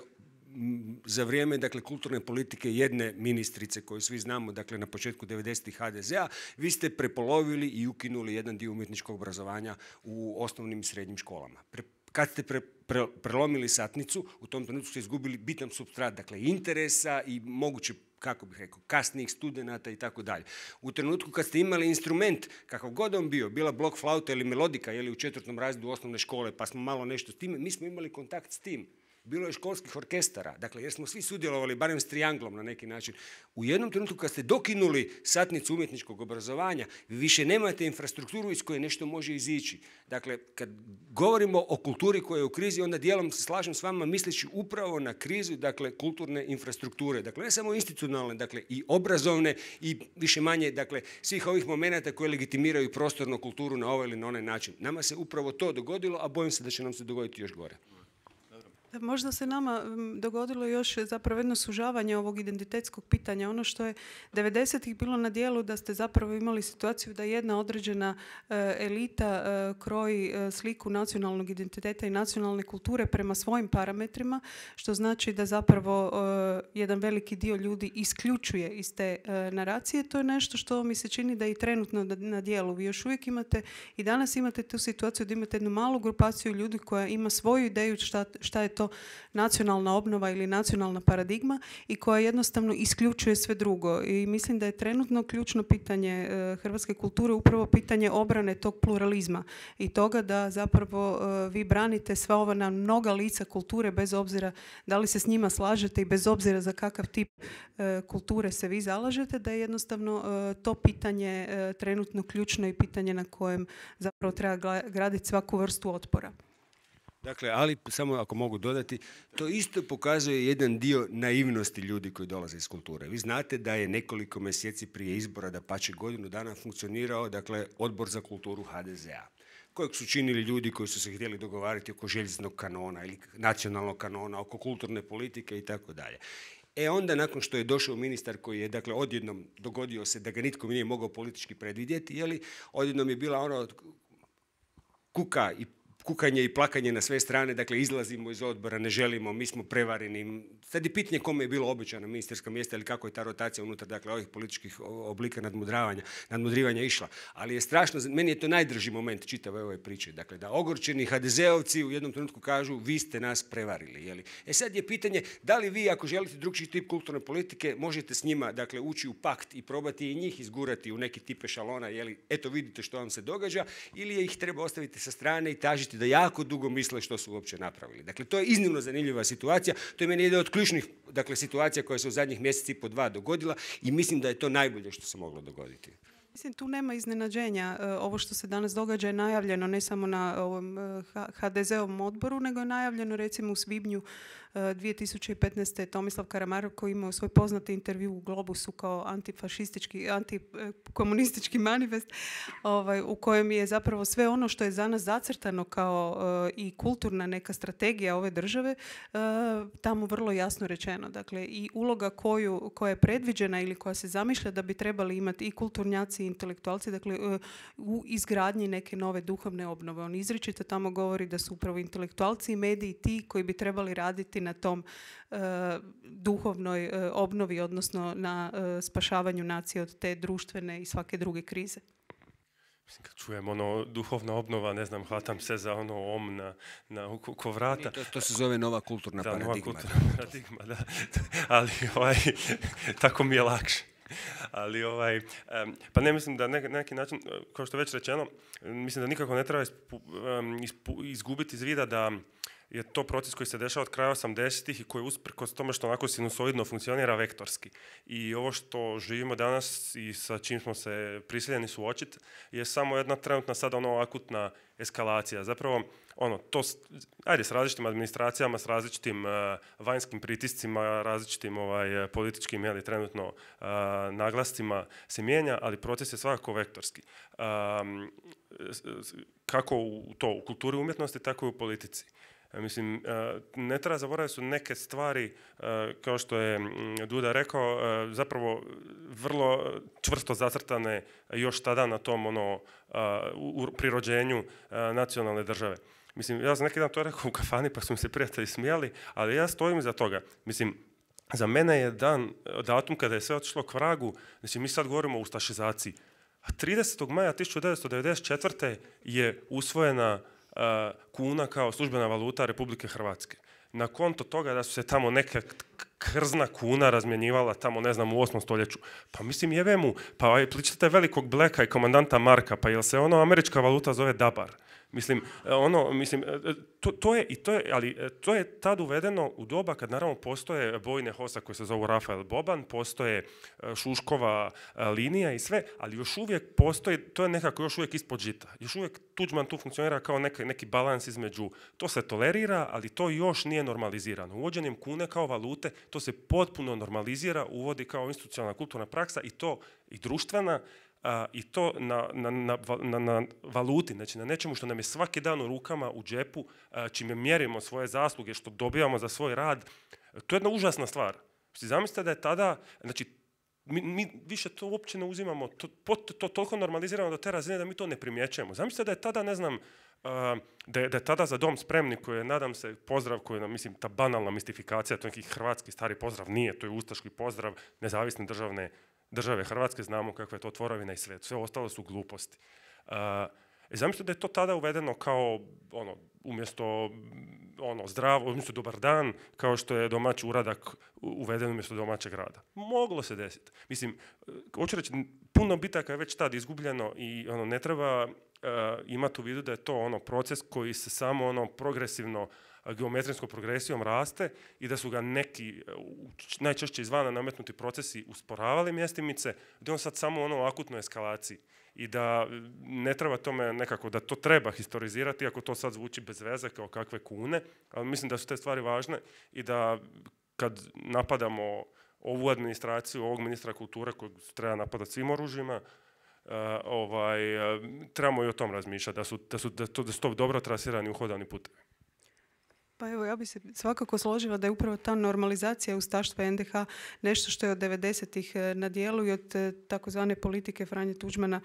S4: za vrijeme dakle, kulturne politike jedne ministrice koju svi znamo dakle, na početku devedesetih ha de zea, vi ste prepolovili i ukinuli jedan dio umjetničkog obrazovanja u osnovnim i srednjim školama. Pre, kad ste pre, pre, prelomili satnicu, u tom trenutku ste izgubili bitan supstrat, dakle interesa i moguće, kako bih rekao, kasnijih studenata i tako dalje. U trenutku kad ste imali instrument, kakav god on bio, bila blok flauta ili melodika, ili u četvrtom razredu osnovne škole, pa smo malo nešto s time, mi smo imali kontakt s tim. Bilo je školskih orkestara, dakle, jer smo svi sudjelovali, barem s trijanglom na neki način. U jednom trenutku kad ste dokinuli satnicu umjetničkog obrazovanja, vi više nemate infrastrukturu iz koje nešto može izići. Dakle, kad govorimo o kulturi koja je u krizi, onda dijelom se slažem s vama misleći upravo na krizu, dakle, kulturne infrastrukture. Dakle, ne samo institucionalne, dakle, i obrazovne i više manje, dakle, svih ovih momenata koje legitimiraju prostornu kulturu na ovaj ili na onaj način. Nama se upravo to dogodilo, a bojim se da će nam se dogoditi još gore.
S5: Možda se nama dogodilo još zapravo jedno sužavanje ovog identitetskog pitanja. Ono što je devedesetih bilo na dijelu da ste zapravo imali situaciju da jedna određena elita kroji sliku nacionalnog identiteta i nacionalne kulture prema svojim parametrima, što znači da zapravo jedan veliki dio ljudi isključuje iz te naracije. To je nešto što mi se čini da je i trenutno na dijelu. Vi još uvijek imate i danas imate tu situaciju da imate jednu malu grupaciju ljudi koja ima svoju ideju šta, šta je to nacionalna obnova ili nacionalna paradigma i koja jednostavno isključuje sve drugo. I mislim da je trenutno ključno pitanje hrvatske kulture upravo pitanje obrane tog pluralizma i toga da zapravo vi branite sva ova na mnoga lica kulture bez obzira da li se s njima slažete i bez obzira za kakav tip kulture se vi zalažete, da je jednostavno to pitanje trenutno ključno i pitanje na kojem zapravo treba graditi svaku vrstu otpora.
S4: Dakle, ali samo ako mogu dodati, to isto pokazuje jedan dio naivnosti ljudi koji dolaze iz kulture. Vi znate da je nekoliko mjeseci prije izbora, da pače godinu dana funkcionirao, dakle, Odbor za kulturu ha de zea, kojeg su činili ljudi koji su se htjeli dogovarati oko željeznog kanona ili nacionalnog kanona, oko kulturne politike i tako dalje. E onda, nakon što je došao ministar koji je, dakle, odjednom dogodio se da ga nitko nije mogao politički predvidjeti, jeli, odjednom je bila ono kuka i kukanje i plakanje na sve strane, dakle, izlazimo iz odbora, ne želimo, mi smo prevareni. Sad je pitanje kome je bilo obećano ministarska mjesta ili kako je ta rotacija unutar, dakle, ovih političkih oblika nadmudravanja, nadmudrivanja išla. Ali je strašno, meni je to najdrži moment čitave ove priče, dakle, da ogorčeni ha de zeovci u jednom trenutku kažu vi ste nas prevarili. Jeli? E sad je pitanje da li vi, ako želite drugčiji tip kulturne politike, možete s njima, dakle, ući u pakt i probati i njih izgurati u neki tip ešalona, jeli, eto vidite što vam se događa, ili ih treba ostaviti sa strane i tažiti da jako dugo misle što su uopće napravili. Dakle, to je iznimno zanimljiva situacija. To je meni jedna od ključnih, dakle, situacija koja se u zadnjih mjeseci i po dva dogodila i mislim da je to najbolje što se moglo dogoditi.
S5: Mislim, tu nema iznenađenja. Ovo što se danas događa je najavljeno ne samo na ovom ha de zeovom odboru, nego je najavljeno recimo u svibnju dvije tisuće petnaeste. Tomislav Karamarov koji imao svoj poznati intervju u Globusu kao antifašistički, antikomunistički manifest, ovaj, u kojem je zapravo sve ono što je za nas zacrtano kao uh, i kulturna neka strategija ove države uh, tamo vrlo jasno rečeno. Dakle, i uloga koju, koja je predviđena ili koja se zamišlja da bi trebali imati i kulturnjaci i intelektualci, dakle, uh, u izgradnji neke nove duhovne obnove. On izričito tamo govori da su upravo intelektualci i mediji ti koji bi trebali raditi na tom uh, duhovnoj uh, obnovi, odnosno na uh, spašavanju nacije od te društvene i svake druge krize.
S6: Mislim, kad čujem ono duhovna obnova, ne znam, hvatam se za ono om na, na ko vrata.
S4: To, to se zove nova kulturna
S6: da,
S4: paradigma.
S6: Nova kulturna paradigma, da. Ali ovaj, tako mi je lakše. Ali ovaj, um, pa ne mislim da na neki način, kao što je već rečeno, mislim da nikako ne treba ispu, um, ispu, izgubiti iz vida da je to proces koji se dešava od kraja osamdesetih i koji usprkos tome što onako sinusoidno funkcionira vektorski. I ovo što živimo danas i sa čim smo se prisiljeni suočiti je samo jedna trenutna sada ono akutna eskalacija. Zapravo ono, to, ajde, s različitim administracijama, s različitim uh, vanjskim pritiscima, različitim ovaj, političkim, jeli, trenutno uh, naglascima se mijenja, ali proces je svakako vektorski. Um, kako u, to, u kulturi umjetnosti, tako i u politici. Mislim, ne treba zaboraviti su neke stvari, kao što je Duda rekao, zapravo vrlo čvrsto zacrtane još tada na tom ono, u prirođenju nacionalne države. Mislim, ja sam neki dan to rekao u kafani pa su mi se prijatelji smijali, ali ja stojim iza toga. Mislim, za mene je dan, datum kada je sve otišlo k vragu, znači mi sad govorimo o ustašizaciji. A tridesetog maja tisuću devetsto devedeset četvrte je usvojena kuna kao službena valuta Republike Hrvatske. Na konto toga da su se tamo neka krzna kuna razmjenjivala tamo, ne znam, u osmom stoljeću. Pa mislim, jebe mu, pa pličite velikog Blacka i komandanta Marka, pa jel se ono američka valuta zove dabar? Mislim, ono, mislim, to, to je, i to je, ali to je tad uvedeno u doba kad naravno postoje bojne hosa koje se zovu Rafael Boban, postoje Šuškova linija i sve, ali još uvijek postoji, to je nekako još uvijek ispod žita. Još uvijek Tuđman tu funkcionira kao neki, neki balans između, to se tolerira, ali to još nije normalizirano. Uvođenjem kune kao valute, to se potpuno normalizira, uvodi kao institucionalna kulturna praksa i to i društvena, Uh, i to na, na, na, na, na valuti, znači na nečemu što nam je svaki dan u rukama, u džepu, uh, čime mjerimo svoje zasluge, što dobijamo za svoj rad, to je jedna užasna stvar. Zamislite da je tada, znači, mi, mi više to uopće ne uzimamo, to, to, to toliko normaliziramo do te razine da mi to ne primjećujemo. Zamislite da je tada, ne znam, Uh, da, je, da je tada Za dom spremni, koji je, nadam se, pozdrav koji je, mislim, ta banalna mistifikacija, to je neki hrvatski stari pozdrav, nije, to je ustaški pozdrav nezavisne državne države Hrvatske, znamo kakva je to tvorovina i sve, sve ostalo su gluposti. Uh, zamislite da je to tada uvedeno kao, ono, umjesto ono, zdravo, umjesto dobar dan, kao što je domaći uradak uveden umjesto domaćeg rada. Moglo se desiti. Mislim, hoću reći, puno bitaka je već tad izgubljeno i ono, ne treba uh, imati u vidu da je to ono, proces koji se samo ono, progresivno, geometrijskom progresijom raste i da su ga neki, najčešće izvana nametnuti procesi usporavali mjestimice, da on sad samo ono u akutnoj eskalaciji i da ne treba tome nekako, da to treba historizirati, ako to sad zvuči bez veze kao kakve kune, ali mislim da su te stvari važne i da kad napadamo ovu administraciju, ovog ministra kulture kojeg treba napadati svim oružjima, uh, ovaj, uh, trebamo i o tom razmišljati, da su, da su, da to, da su to dobro trasirani uhodani putevi.
S5: Pa evo, ja bi se svakako složila da je upravo ta normalizacija ustaštva en de ha nešto što je od devedesetih na dijelu i od takozvane politike Franje Tuđmana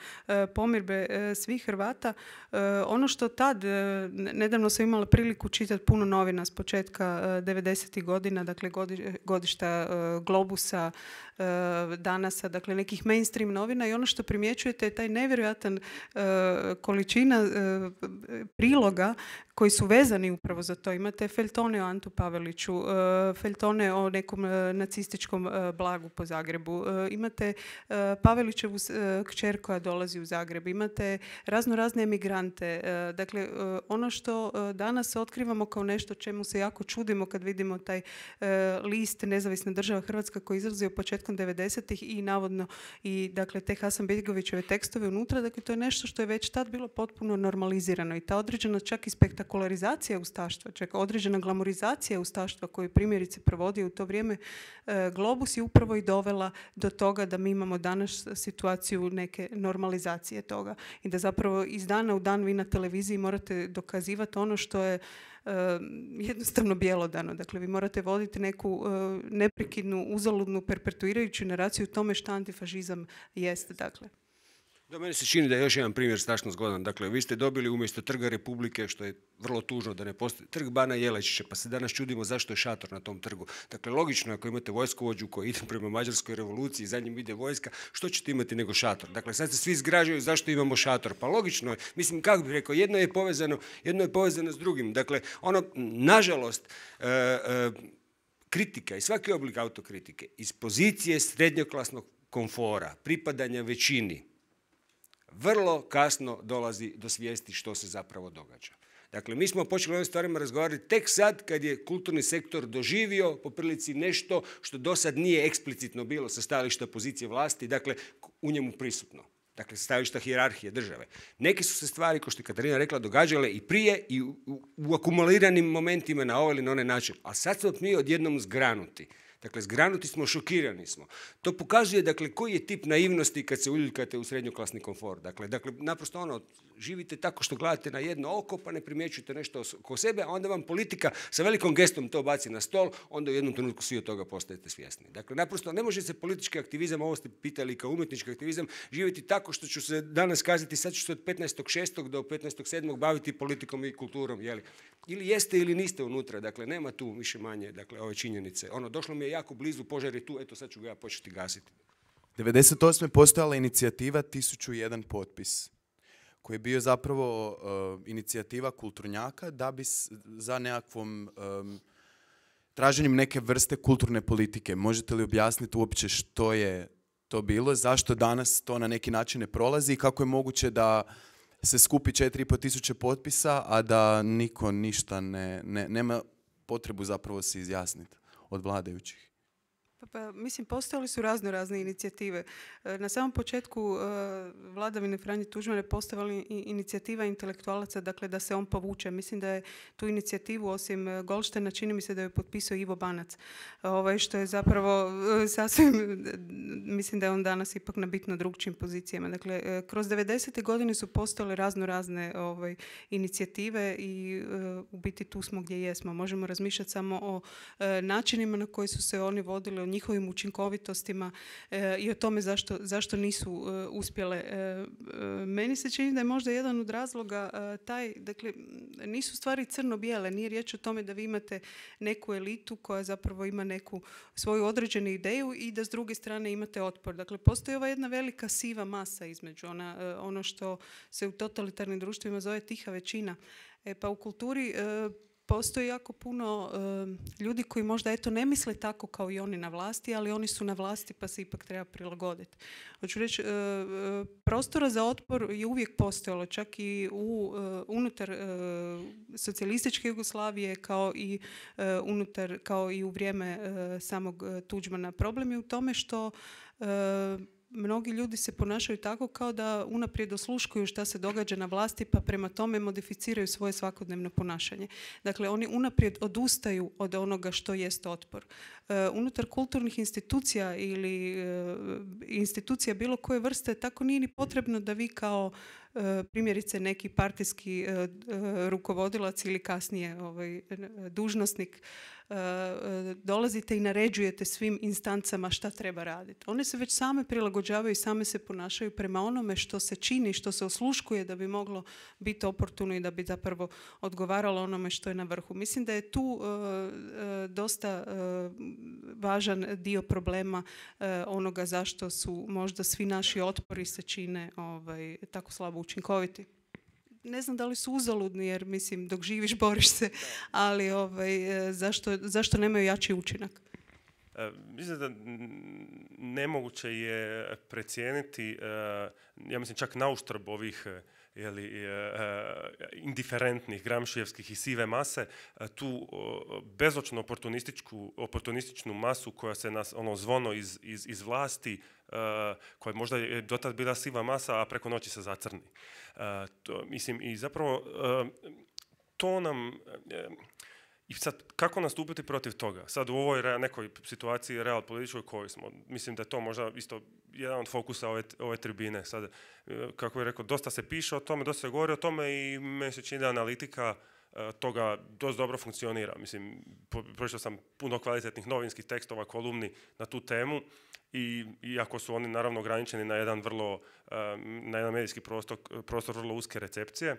S5: pomirbe svih Hrvata. Ono što tad, nedavno sam imala priliku čitati puno novina s početka devedesetih godina, dakle godišta Globusa, Danasa, dakle nekih mainstream novina i ono što primjećujete je taj nevjerojatan količina priloga koji su vezani upravo za to. Imate feljtone o Antu Paveliću, feljtone o nekom nacističkom blagu po Zagrebu, imate Pavelićevu kćer koja dolazi u Zagreb, imate razno razne emigrante. Dakle, ono što danas otkrivamo kao nešto čemu se jako čudimo kad vidimo taj list Nezavisna država Hrvatska koji izlazio početkom devedesetih i navodno i dakle te Hasanbegovićeve tekstove unutra, dakle to je nešto što je već tad bilo potpuno normalizirano i ta određena čak i spektakularizacija ustaštva, čak određena glamorizacija ustaštva koju primjerice provodio u to vrijeme Globus je upravo i dovela do toga da mi imamo danas situaciju neke normalizacije toga i da zapravo iz dana u dan vi na televiziji morate dokazivati ono što je Uh, jednostavno bjelodano. Dakle, vi morate voditi neku uh, neprekidnu, uzaludnu, perpetuirajuću naraciju u tome što antifašizam jest. Dakle.
S4: Da, meni se čini da je još jedan primjer strašno zgodan. Dakle, vi ste dobili umjesto Trga Republike, što je vrlo tužno da ne postoji, Trg Bana Jelačića, pa se danas čudimo zašto je šator na tom trgu. Dakle, logično je ako imate vojskovođu koji ide prema Mađarskoj revoluciji, za njim ide vojska, što ćete imati nego šator? Dakle, sad se svi zgražaju zašto imamo šator. Pa logično je, mislim, kako bih rekao, jedno je povezano, jedno je povezano s drugim. Dakle, ono, nažalost, e, e, kritika i svaki oblik autokritike iz pozicije srednjoklasnog komfora, pripadanja većini, vrlo kasno dolazi do svijesti što se zapravo događa. Dakle, mi smo počeli o ovim stvarima razgovarati tek sad kad je kulturni sektor doživio po prilici nešto što do sad nije eksplicitno bilo sa stajališta pozicije vlasti, dakle, u njemu prisutno. Dakle, stajališta hijerarhije države. Neke su se stvari, kao što je Katarina rekla, događale i prije i u, u, u akumuliranim momentima na ovaj ili na onaj način. A sad smo mi odjednom zgranuti. Dakle, zgranuti smo, šokirani smo. To pokazuje, dakle, koji je tip naivnosti kad se uljuljkate u srednjoklasni komfor. Dakle, dakle, naprosto ono, živite tako što gledate na jedno oko, pa ne primjećujete nešto oko sebe, a onda vam politika sa velikom gestom to baci na stol, onda u jednom trenutku svi od toga postajete svjesni. Dakle, naprosto ne može se politički aktivizam, ovo ste pitali kao umjetnički aktivizam, živjeti tako što ću se danas kazati, sad ću se od petnaestog šestog do petnaestog sedmog baviti politikom i kulturom, jeli? Ili jeste ili niste unutra, dakle, nema tu više manje, dakle, ove činjenice. Ono, došlo mi je jako blizu, požar je tu, eto sad ću ga ja početi gasiti.
S7: devedeset osme postojala inicijativa tisuću jedan potpis, koji je bio zapravo uh, inicijativa kulturnjaka da bi s, za nekakvom um, traženjem neke vrste kulturne politike. Možete li objasniti uopće što je to bilo, zašto danas to na neki način ne prolazi i kako je moguće da se skupi četiri i pol tisuće potpisa, a da niko ništa ne, ne, nema potrebu zapravo se izjasniti od vladajućih?
S5: Pa, mislim, postojale su razno razne inicijative. Na samom početku vladavine Franje Tuđmana je postojala inicijativa intelektualaca, dakle da se on povuče. Mislim da je tu inicijativu, osim Goldsteina, čini mi se da je potpisao Ivo Banac. Ovaj, što je zapravo sasvim, mislim da je on danas ipak na bitno drugčijim pozicijama. Dakle, kroz devedesete godine su postojale razno razne ovaj, inicijative i u biti tu smo gdje jesmo. Možemo razmišljati samo o načinima na koji su se oni vodili, o njihovim učinkovitostima e, i o tome zašto, zašto nisu e, uspjele. E, e, meni se čini da je možda jedan od razloga e, taj, dakle, nisu stvari crno-bijele, nije riječ o tome da vi imate neku elitu koja zapravo ima neku svoju određenu ideju i da s druge strane imate otpor. Dakle, postoji ova jedna velika siva masa između ona, e, ono što se u totalitarnim društvima zove tiha većina. E, pa u kulturi e, postoji jako puno uh, ljudi koji možda eto ne misle tako kao i oni na vlasti, ali oni su na vlasti pa se ipak treba prilagoditi. Hoću reći, uh, prostora za otpor je uvijek postojalo, čak i u, uh, unutar uh, socijalističke Jugoslavije kao i, uh, unutar, kao i u vrijeme uh, samog uh, Tuđmana. Problem je u tome što uh, mnogi ljudi se ponašaju tako kao da unaprijed osluškuju šta se događa na vlasti pa prema tome modificiraju svoje svakodnevno ponašanje. Dakle, oni unaprijed odustaju od onoga što jest otpor. E, unutar kulturnih institucija ili e, institucija bilo koje vrste tako nije ni potrebno da vi kao e, primjerice neki partijski e, e, rukovodilac ili kasnije ovaj, dužnosnik dolazite i naređujete svim instancama šta treba raditi. One se već same prilagođavaju i same se ponašaju prema onome što se čini, što se osluškuje da bi moglo biti oportuno i da bi zapravo odgovaralo onome što je na vrhu. Mislim da je tu uh, uh, dosta uh, važan dio problema uh, onoga zašto su možda svi naši otpori se čine ovaj, tako slabo učinkoviti. Ne znam da li su uzaludni, jer mislim dok živiš boriš se, ali ovaj, zašto, zašto nemaju jači učinak?
S6: E, mislim da nemoguće je precijeniti, e, ja mislim čak na uštrb ovih jeli, e, indiferentnih, gramšijevskih i sive mase, tu bezočno oportunističku, oportunističnu masu koja se nas, ono zvono iz, iz, iz vlasti, Uh, koja možda je dotad bila siva masa, a preko noći se zacrni. Uh, to, mislim, i zapravo uh, to nam... Uh, I sad, kako nastupiti protiv toga? Sad u ovoj re, nekoj situaciji real političkoj kojoj smo, mislim da je to možda isto jedan od fokusa ove, ove tribine. Sad, uh, kako je rekao, dosta se piše o tome, dosta se govori o tome i meni se čini da analitika toga dosta dobro funkcionira. Mislim, pročitao sam puno kvalitetnih novinskih tekstova, kolumni na tu temu i iako su oni naravno ograničeni na jedan vrlo, na jedan medijski prostor, prostor vrlo uske recepcije,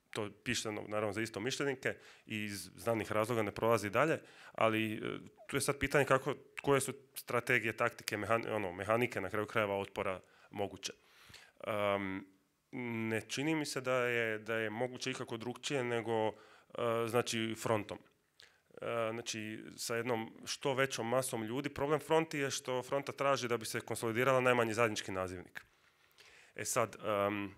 S6: to piše naravno za isto mišljenike i iz znanih razloga ne prolazi dalje, ali tu je sad pitanje kako, koje su strategije, taktike, mehan, ono, mehanike na kraju krajeva otpora moguće. Um, Ne čini mi se da je, da je moguće ikako drugčije nego uh, znači frontom. Uh, znači sa jednom što većom masom ljudi. Problem fronti je što fronta traži da bi se konsolidirala najmanji zajednički nazivnik. E sad, um,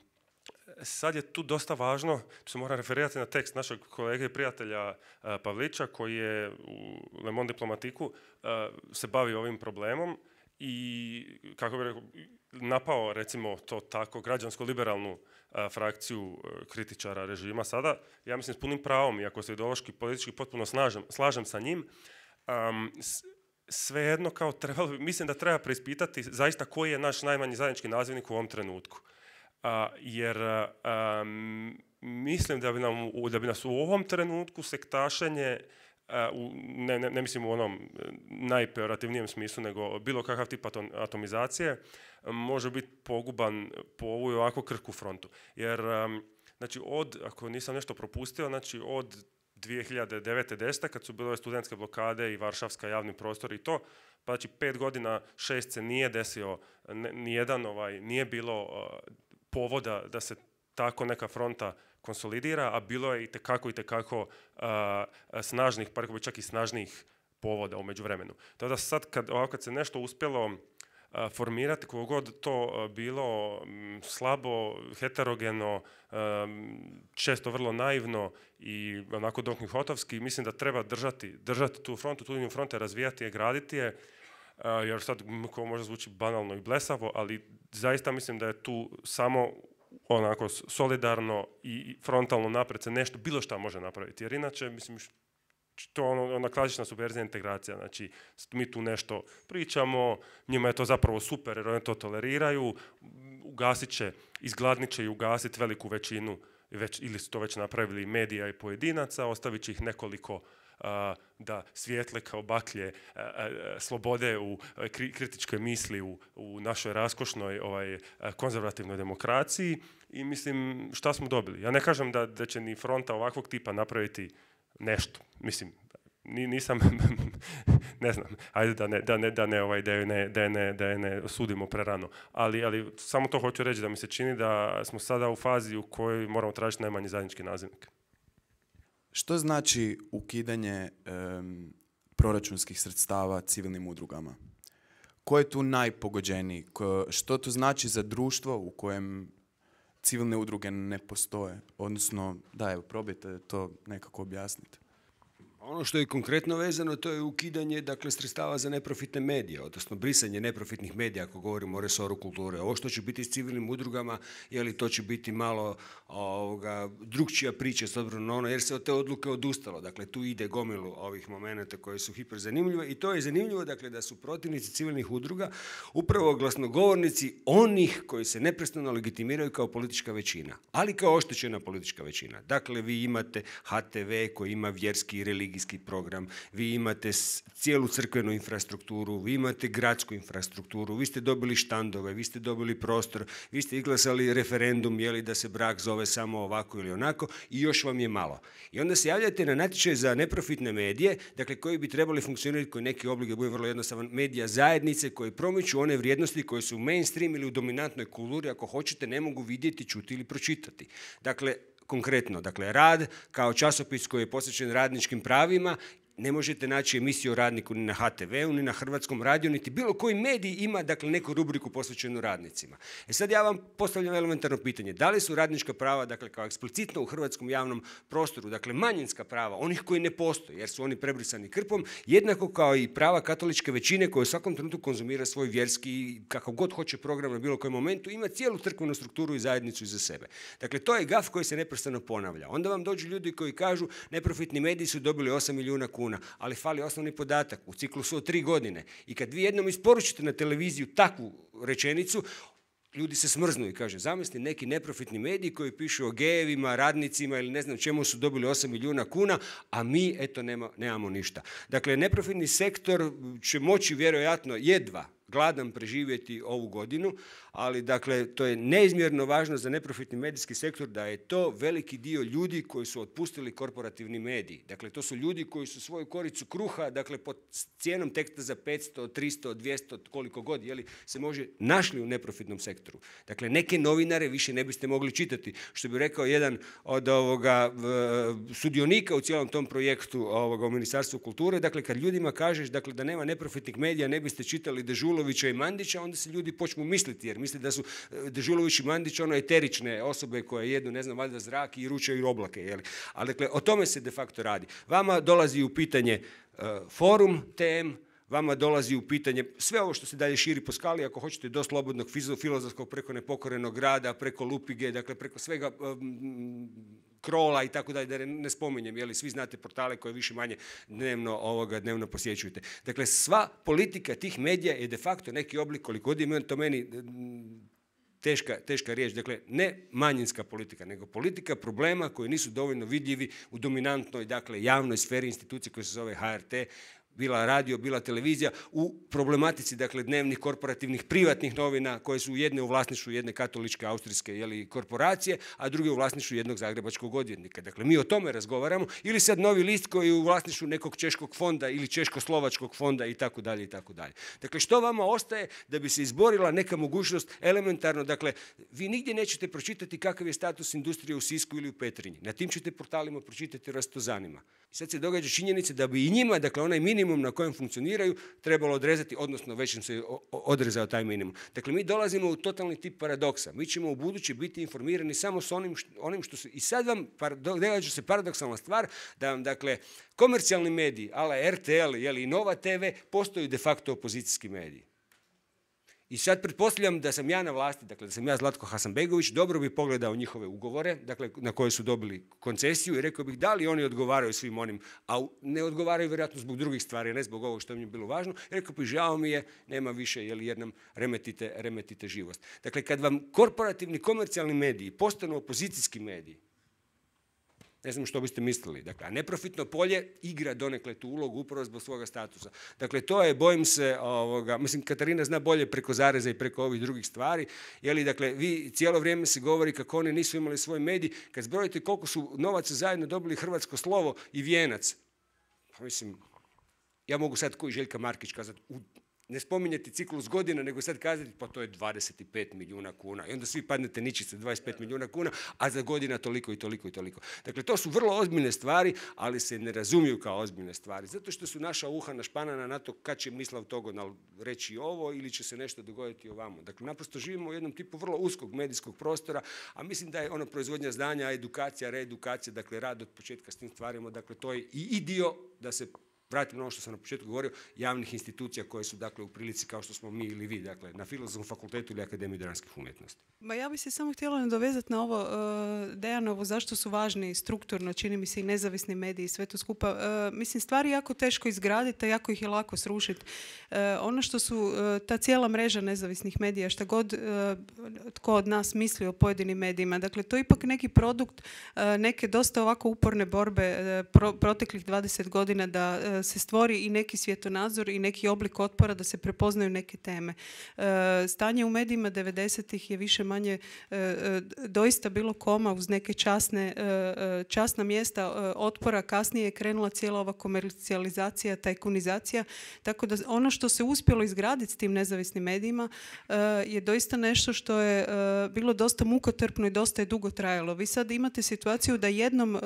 S6: sad je tu dosta važno, tu se moram referirati na tekst našeg kolege i prijatelja uh, Pavlića koji je u Le Monde Diplomatiku uh, se bavi ovim problemom i, kako bi rekao, napao, recimo to tako, građansko-liberalnu a, frakciju a, kritičara režima sada, ja mislim s punim pravom, iako se ideološki, politički potpuno snažem, slažem sa njim, um, s, svejedno kao trebalo, mislim da treba preispitati zaista koji je naš najmanji zajednički nazivnik u ovom trenutku. A, jer a, mislim da bi, nam, da bi nas u ovom trenutku sektašenje, a, u, ne, ne, ne mislim u onom najpejorativnijem smislu, nego bilo kakav tip atomizacije, može biti poguban po ovu i ovako krhku frontu. Jer, a, znači, od, ako nisam nešto propustio, znači od dvije hiljade devete desete kad su bile ove studentske blokade i Varšavska javni prostor i to, pa znači pet godina, šest se nije desio, nijedan ovaj, nije bilo uh, povoda da se tako neka fronta konsolidira, a bilo je i tekako i tekako uh, snažnih, pa rekao bi čak i snažnijih povoda u međuvremenu. Tako da sad kad, ovako, kad se nešto uspjelo formirati, koliko god to bilo m, slabo, heterogeno, um, često vrlo naivno i onako Don Quijotovski, mislim da treba držati, držati tu frontu, tu liniju fronte, razvijati je, graditi je, uh, jer sad ko možda zvuči banalno i blesavo, ali zaista mislim da je tu samo onako solidarno i frontalno napred se nešto, bilo šta može napraviti, jer inače, mislim, to je ono, ona klasična subverzija integracija, znači mi tu nešto pričamo, njima je to zapravo super jer oni to toleriraju, ugasit će, izgladnit će i ugasit veliku većinu, već, ili su to već napravili medija i pojedinaca, ostavit će ih nekoliko a, da svijetle kao baklje a, a, slobode u a, kri, kritičke misli u, u našoj raskošnoj ovaj, a, konzervativnoj demokraciji i mislim šta smo dobili. Ja ne kažem da, da će ni fronta ovakvog tipa napraviti nešto, mislim, nisam, ne znam, ajde da ne, da ne, da ne, ovaj, da je ne, da je ne, da je ne sudimo prerano, ali, ali samo to hoću reći da mi se čini da smo sada u fazi u kojoj moramo tražiti najmanji zajednički nazivnik.
S7: Što znači ukidanje um, proračunskih sredstava civilnim udrugama? Ko je tu najpogođeniji? Ko, što to znači za društvo u kojem civilne udruge ne postoje? Odnosno, da, evo, probajte to nekako objasniti.
S4: Ono što je konkretno vezano, to je ukidanje, dakle, sredstava za neprofitne medije, odnosno brisanje neprofitnih medija, ako govorimo o resoru kulture. Ovo što će biti s civilnim udrugama, je li to će biti malo ovoga, drugčija priča s obzirom na ono, jer se od te odluke odustalo. Dakle, tu ide gomilu ovih momenata koji su hiper zanimljive i to je zanimljivo, dakle, da su protivnici civilnih udruga upravo glasnogovornici onih koji se neprestano legitimiraju kao politička većina, ali kao oštećena politička većina. Dakle, vi imate H T V koji ima vjerski i religijski program, vi imate cijelu crkvenu infrastrukturu, vi imate gradsku infrastrukturu, vi ste dobili štandove, vi ste dobili prostor, vi ste izglasali referendum, je li da se brak zove samo ovako ili onako i još vam je malo. I onda se javljate na natječaj za neprofitne medije, dakle koji bi trebali funkcionirati koji neki oblik, da bude vrlo jednostavan, medija zajednice koji promiču one vrijednosti koje su u mainstream ili u dominantnoj kulturi, ako hoćete, ne mogu vidjeti, čuti ili pročitati. Dakle, konkretno, dakle, Rad kao časopis koji je posvećen radničkim pravima, ne možete naći emisiju o radniku ni na H T V-u, ni na Hrvatskom radiju, niti bilo koji medij ima, dakle, neku rubriku posvećenu radnicima. E sad ja vam postavljam elementarno pitanje. Da li su radnička prava, dakle, kao eksplicitno u hrvatskom javnom prostoru, dakle, manjinska prava, onih koji ne postoje, jer su oni prebrisani krpom, jednako kao i prava katoličke većine koja u svakom trenutku konzumira svoj vjerski, kakav god hoće program na bilo kojem momentu, ima cijelu crkvenu strukturu i zajednicu iza sebe. Dakle, to je gaf koji se neprestano ponavlja. Onda vam dođu ljudi koji kažu neprofitni mediji su dobili osam milijuna kuna. Ali fali osnovni podatak u ciklusu od tri godine. I kad vi jednom isporučite na televiziju takvu rečenicu, ljudi se smrznu i kaže, zamisli neki neprofitni mediji koji pišu o gejevima, radnicima ili ne znam čemu su dobili osam milijuna kuna, a mi, eto, nema, nemamo ništa. Dakle, neprofitni sektor će moći vjerojatno jedva gladan preživjeti ovu godinu, ali dakle to je neizmjerno važno za neprofitni medijski sektor da je to veliki dio ljudi koji su otpustili korporativni mediji. Dakle, to su ljudi koji su svoju koricu kruha, dakle pod cijenom teksta za petsto, tristo, dvjesto, koliko god, jeli, se može našli u neprofitnom sektoru. Dakle, neke novinare više ne biste mogli čitati. Što bi rekao jedan od ovoga sudionika u cijelom tom projektu ovoga, u Ministarstvu kulture, dakle kad ljudima kažeš dakle, da nema neprofitnih medija, ne biste čitali Dežulovića i Mandića, onda se ljudi počnu misliti, jer misli da su Dežulović i Mandić ono eterične osobe koje jedu, ne znam, valjda zrak i ručaju oblake. Jeli. Ali dakle, o tome se de facto radi. Vama dolazi u pitanje uh, forum, tem, vama dolazi u pitanje sve ovo što se dalje širi po skali, ako hoćete do slobodnog filozofskog, preko nepokorenog rada, preko Lupige, dakle preko svega um, Krola i tako dalje, da ne spominjem, jeli svi znate portale koje više manje dnevno, ovoga, dnevno posjećujete. Dakle, sva politika tih medija je de facto neki oblik, koliko god je to meni teška, teška riječ, dakle ne manjinska politika, nego politika problema koji nisu dovoljno vidljivi u dominantnoj, dakle javnoj sferi institucije koja se zove H R T, bila radio, bila televizija, u problematici, dakle, dnevnih korporativnih privatnih novina koje su jedne u vlasništvu jedne katoličke austrijske jeli, korporacije, a druge u vlasništvu jednog zagrebačkog odvjetnika. Dakle, mi o tome razgovaramo, ili sad Novi list koji je u vlasništvu nekog češkog fonda ili češko-slovačkog fonda i tako dalje i tako dalje. Dakle, što vama ostaje da bi se izborila neka mogućnost elementarno, dakle, vi nigdje nećete pročitati kakav je status industrije u Sisku ili u Petrinji. Na tim ćete portalima pročitati rastozanima. I sad se događa činjenica da bi i njima, dakle, onaj minimum na kojem funkcioniraju, trebalo odrezati, odnosno već im se odrezao taj minimum. Dakle, mi dolazimo u totalni tip paradoksa. Mi ćemo u budući biti informirani samo s onim što, onim što se... I sad vam događa se paradoksalna stvar da vam, dakle, komercijalni mediji, ala R T L jeli, i Nova T V, postaju de facto opozicijski mediji. I sad pretpostavljam da sam ja na vlasti, dakle da sam ja Zlatko Hasanbegović, dobro bi pogledao njihove ugovore, dakle na koje su dobili koncesiju i rekao bih da li oni odgovaraju svim onim, a ne odgovaraju vjerojatno zbog drugih stvari, ne zbog ovog što mi je bilo važno. Rekao bih žao mi je, nema više jer nam remetite, remetite živost. Dakle, kad vam korporativni komercijalni mediji postanu opozicijski mediji, ne znam što biste mislili. Dakle, a neprofitno polje igra donekle tu ulogu upravo zbog svoga statusa. Dakle, to je, bojim se, ovoga, mislim, Katarina zna bolje preko zareza i preko ovih drugih stvari, jeli, dakle, vi cijelo vrijeme se govori kako oni nisu imali svoj medij, kad zbrojite koliko su novaca zajedno dobili Hrvatsko slovo i Vijenac, pa mislim, ja mogu sad koji Željka Markić kazati, u ne spominjati ciklus godina, nego sad kazati pa to je dvadeset pet milijuna kuna. I onda svi padnete ničice dvadeset pet milijuna kuna, a za godina toliko i toliko i toliko. Dakle, to su vrlo ozbiljne stvari, ali se ne razumiju kao ozbiljne stvari. Zato što su naša uha našpanana na to kad će Mislav Togonal reći ovo ili će se nešto dogoditi ovamo. Dakle, naprosto živimo u jednom tipu vrlo uskog medijskog prostora, a mislim da je ono proizvodnja znanja, edukacija, reedukacija, dakle rad od početka s tim stvarima, dakle to je i, i dio da se vratim na ono što sam na početku govorio, javnih institucija koje su, dakle, u prilici kao što smo mi ili vi, dakle, na Filozofskom fakultetu ili Akademiji dramskih umjetnosti.
S5: Ma ja bih se samo htjela nadovezati na ovo, uh, Dejanovo, zašto su važni strukturno, čini mi se i nezavisni mediji i sve to skupa. Uh, mislim, stvari jako teško izgraditi, a jako ih je lako srušiti. Uh, ono što su, uh, ta cijela mreža nezavisnih medija, šta god uh, tko od nas misli o pojedinim medijima, dakle, to je ipak neki produkt uh, neke dosta ovako uporne borbe uh, pro, proteklih dvadeset godina da uh, se stvori i neki svjetonazor i neki oblik otpora da se prepoznaju neke teme. Stanje u medijima devedesetih je više manje doista bilo koma uz neke časne, časna mjesta otpora. Kasnije je krenula cijela ova komercijalizacija, tajkunizacija, tako da ono što se uspjelo izgraditi s tim nezavisnim medijima je doista nešto što je bilo dosta mukotrpno i dosta je dugo trajalo. Vi sad imate situaciju da jednom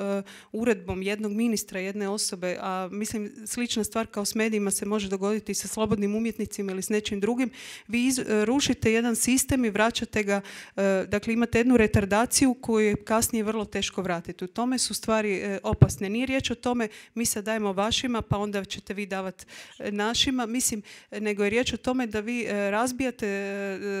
S5: uredbom jednog ministra, jedne osobe, a mislim slična stvar kao s medijima se može dogoditi sa slobodnim umjetnicima ili s nečim drugim, vi iz, rušite jedan sistem i vraćate ga, dakle imate jednu retardaciju koju je kasnije vrlo teško vratiti. U tome su stvari opasne. Nije riječ o tome mi sad dajemo vašima pa onda ćete vi davati našima, mislim, nego je riječ o tome da vi razbijate,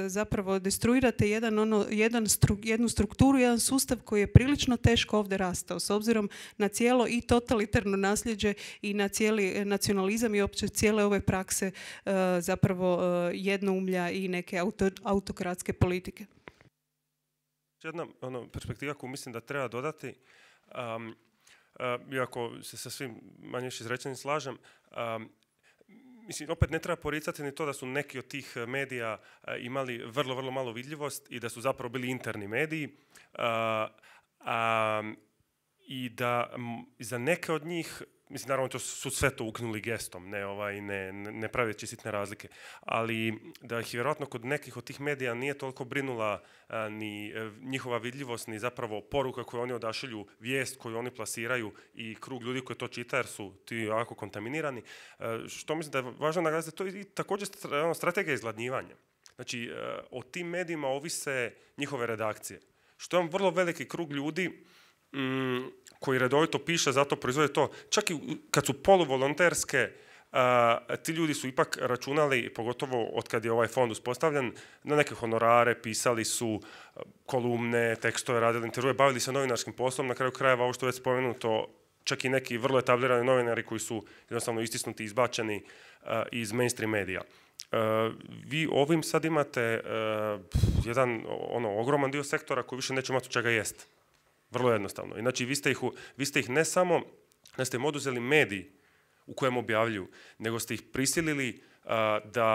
S5: zapravo destruirate jedan, ono, jedan stru, jednu strukturu, jedan sustav koji je prilično teško ovdje rastao s obzirom na cijelo i totalitarno nasljeđe i na cijeli nacionalizam i opće cijele ove prakse uh, zapravo uh, jednoumlja i neke auto, autokratske politike.
S6: Jedna ono, perspektiva koju mislim da treba dodati, um, uh, iako se sa svim manje više izrečenim slažem, um, mislim, opet ne treba poricati ni to da su neki od tih medija uh, imali vrlo, vrlo malo vidljivost i da su zapravo bili interni mediji. Uh, um, I da m, za neke od njih, mislim, naravno to su sve to ukinuli gestom, ne, ovaj, ne, ne praveći sitne razlike, ali da ih vjerojatno kod nekih od tih medija nije toliko brinula a, ni a, njihova vidljivost, ni zapravo poruka koju oni odašilju, vijest koju oni plasiraju i krug ljudi koji to čita jer su ti jako kontaminirani. A, što mislim da je važno naglasiti, to je i također strategija izgladnjivanja. Znači, a, o tim medijima ovise njihove redakcije. Što je vrlo veliki krug ljudi Mm, koji redovito piše, zato proizvode to. Čak i kad su poluvolonterske, a, ti ljudi su ipak računali, pogotovo od kad je ovaj fond uspostavljen, na neke honorare, pisali su kolumne, tekstove, radili intervjue, bavili se novinarskim poslom, na kraju krajeva ovo što je već spomenuto, čak i neki vrlo etablirani novinari koji su jednostavno istisnuti, izbačeni uh, iz mainstream medija. Uh, vi ovim sad imate uh, jedan ono, ogroman dio sektora koji više neće imati od čega jest. Vrlo jednostavno. Znači, vi ste ih, vi ste ih ne samo, ne ste im oduzeli mediji u kojem objavljuju, nego ste ih prisilili uh, da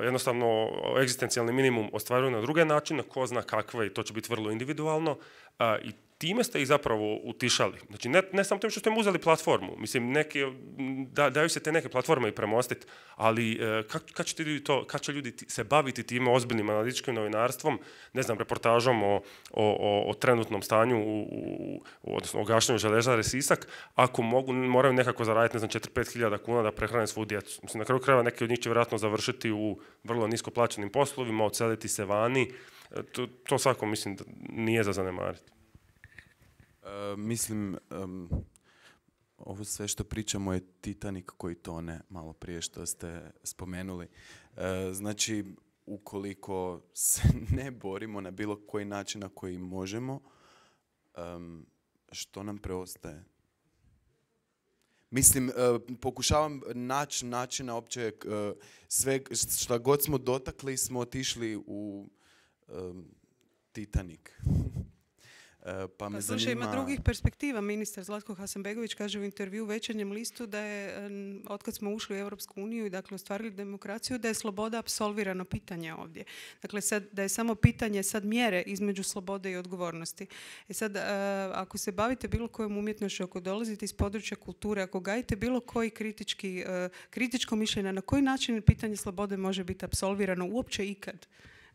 S6: jednostavno egzistencijalni minimum ostvaruju na druge načine, ko zna kakve, i to će biti vrlo individualno, uh, i time ste ih zapravo utišali. Znači, ne, ne samo tim što ste im uzeli platformu. Mislim, neke, da, daju se te neke platforme i premostiti, ali kad, kad, će ljudi to, kad će ljudi se baviti time ozbiljnim analitičkim novinarstvom, ne znam, reportažom o, o, o trenutnom stanju, u, u, odnosno o gašenju Željezare Sisak, ako mogu, moraju nekako zaraditi, ne znam, četiri do pet hiljada kuna da prehrane svu djecu. Mislim, na kraju krajeva neki od njih će vjerojatno završiti u vrlo nisko plaćenim poslovima, odseliti se vani. To, to svako, mislim, da nije za zanemariti.
S7: Uh, mislim, um, ovo sve što pričamo je Titanic koji tone, malo prije što ste spomenuli. Uh, znači, ukoliko se ne borimo na bilo koji način na koji možemo, um, što nam preostaje? Mislim, uh, pokušavam naći načina opće, uh, sve šta god smo dotakli smo otišli u um, Titanic. Pa me
S5: pa, slušaj,
S7: zanima...
S5: ima drugih perspektiva. Ministar Zlatko Hasanbegović kaže u intervju u Večernjem listu da je, otkad smo ušli u Europsku uniju i dakle ostvarili demokraciju, da je sloboda apsolvirano pitanje ovdje. Dakle, sad, da je samo pitanje sad mjere između slobode i odgovornosti. E sad, ako se bavite bilo kojom umjetnošću, ako dolazite iz područja kulture, ako gajite bilo koji kritički, kritičko mišljenje, na koji način pitanje slobode može biti apsolvirano uopće ikad?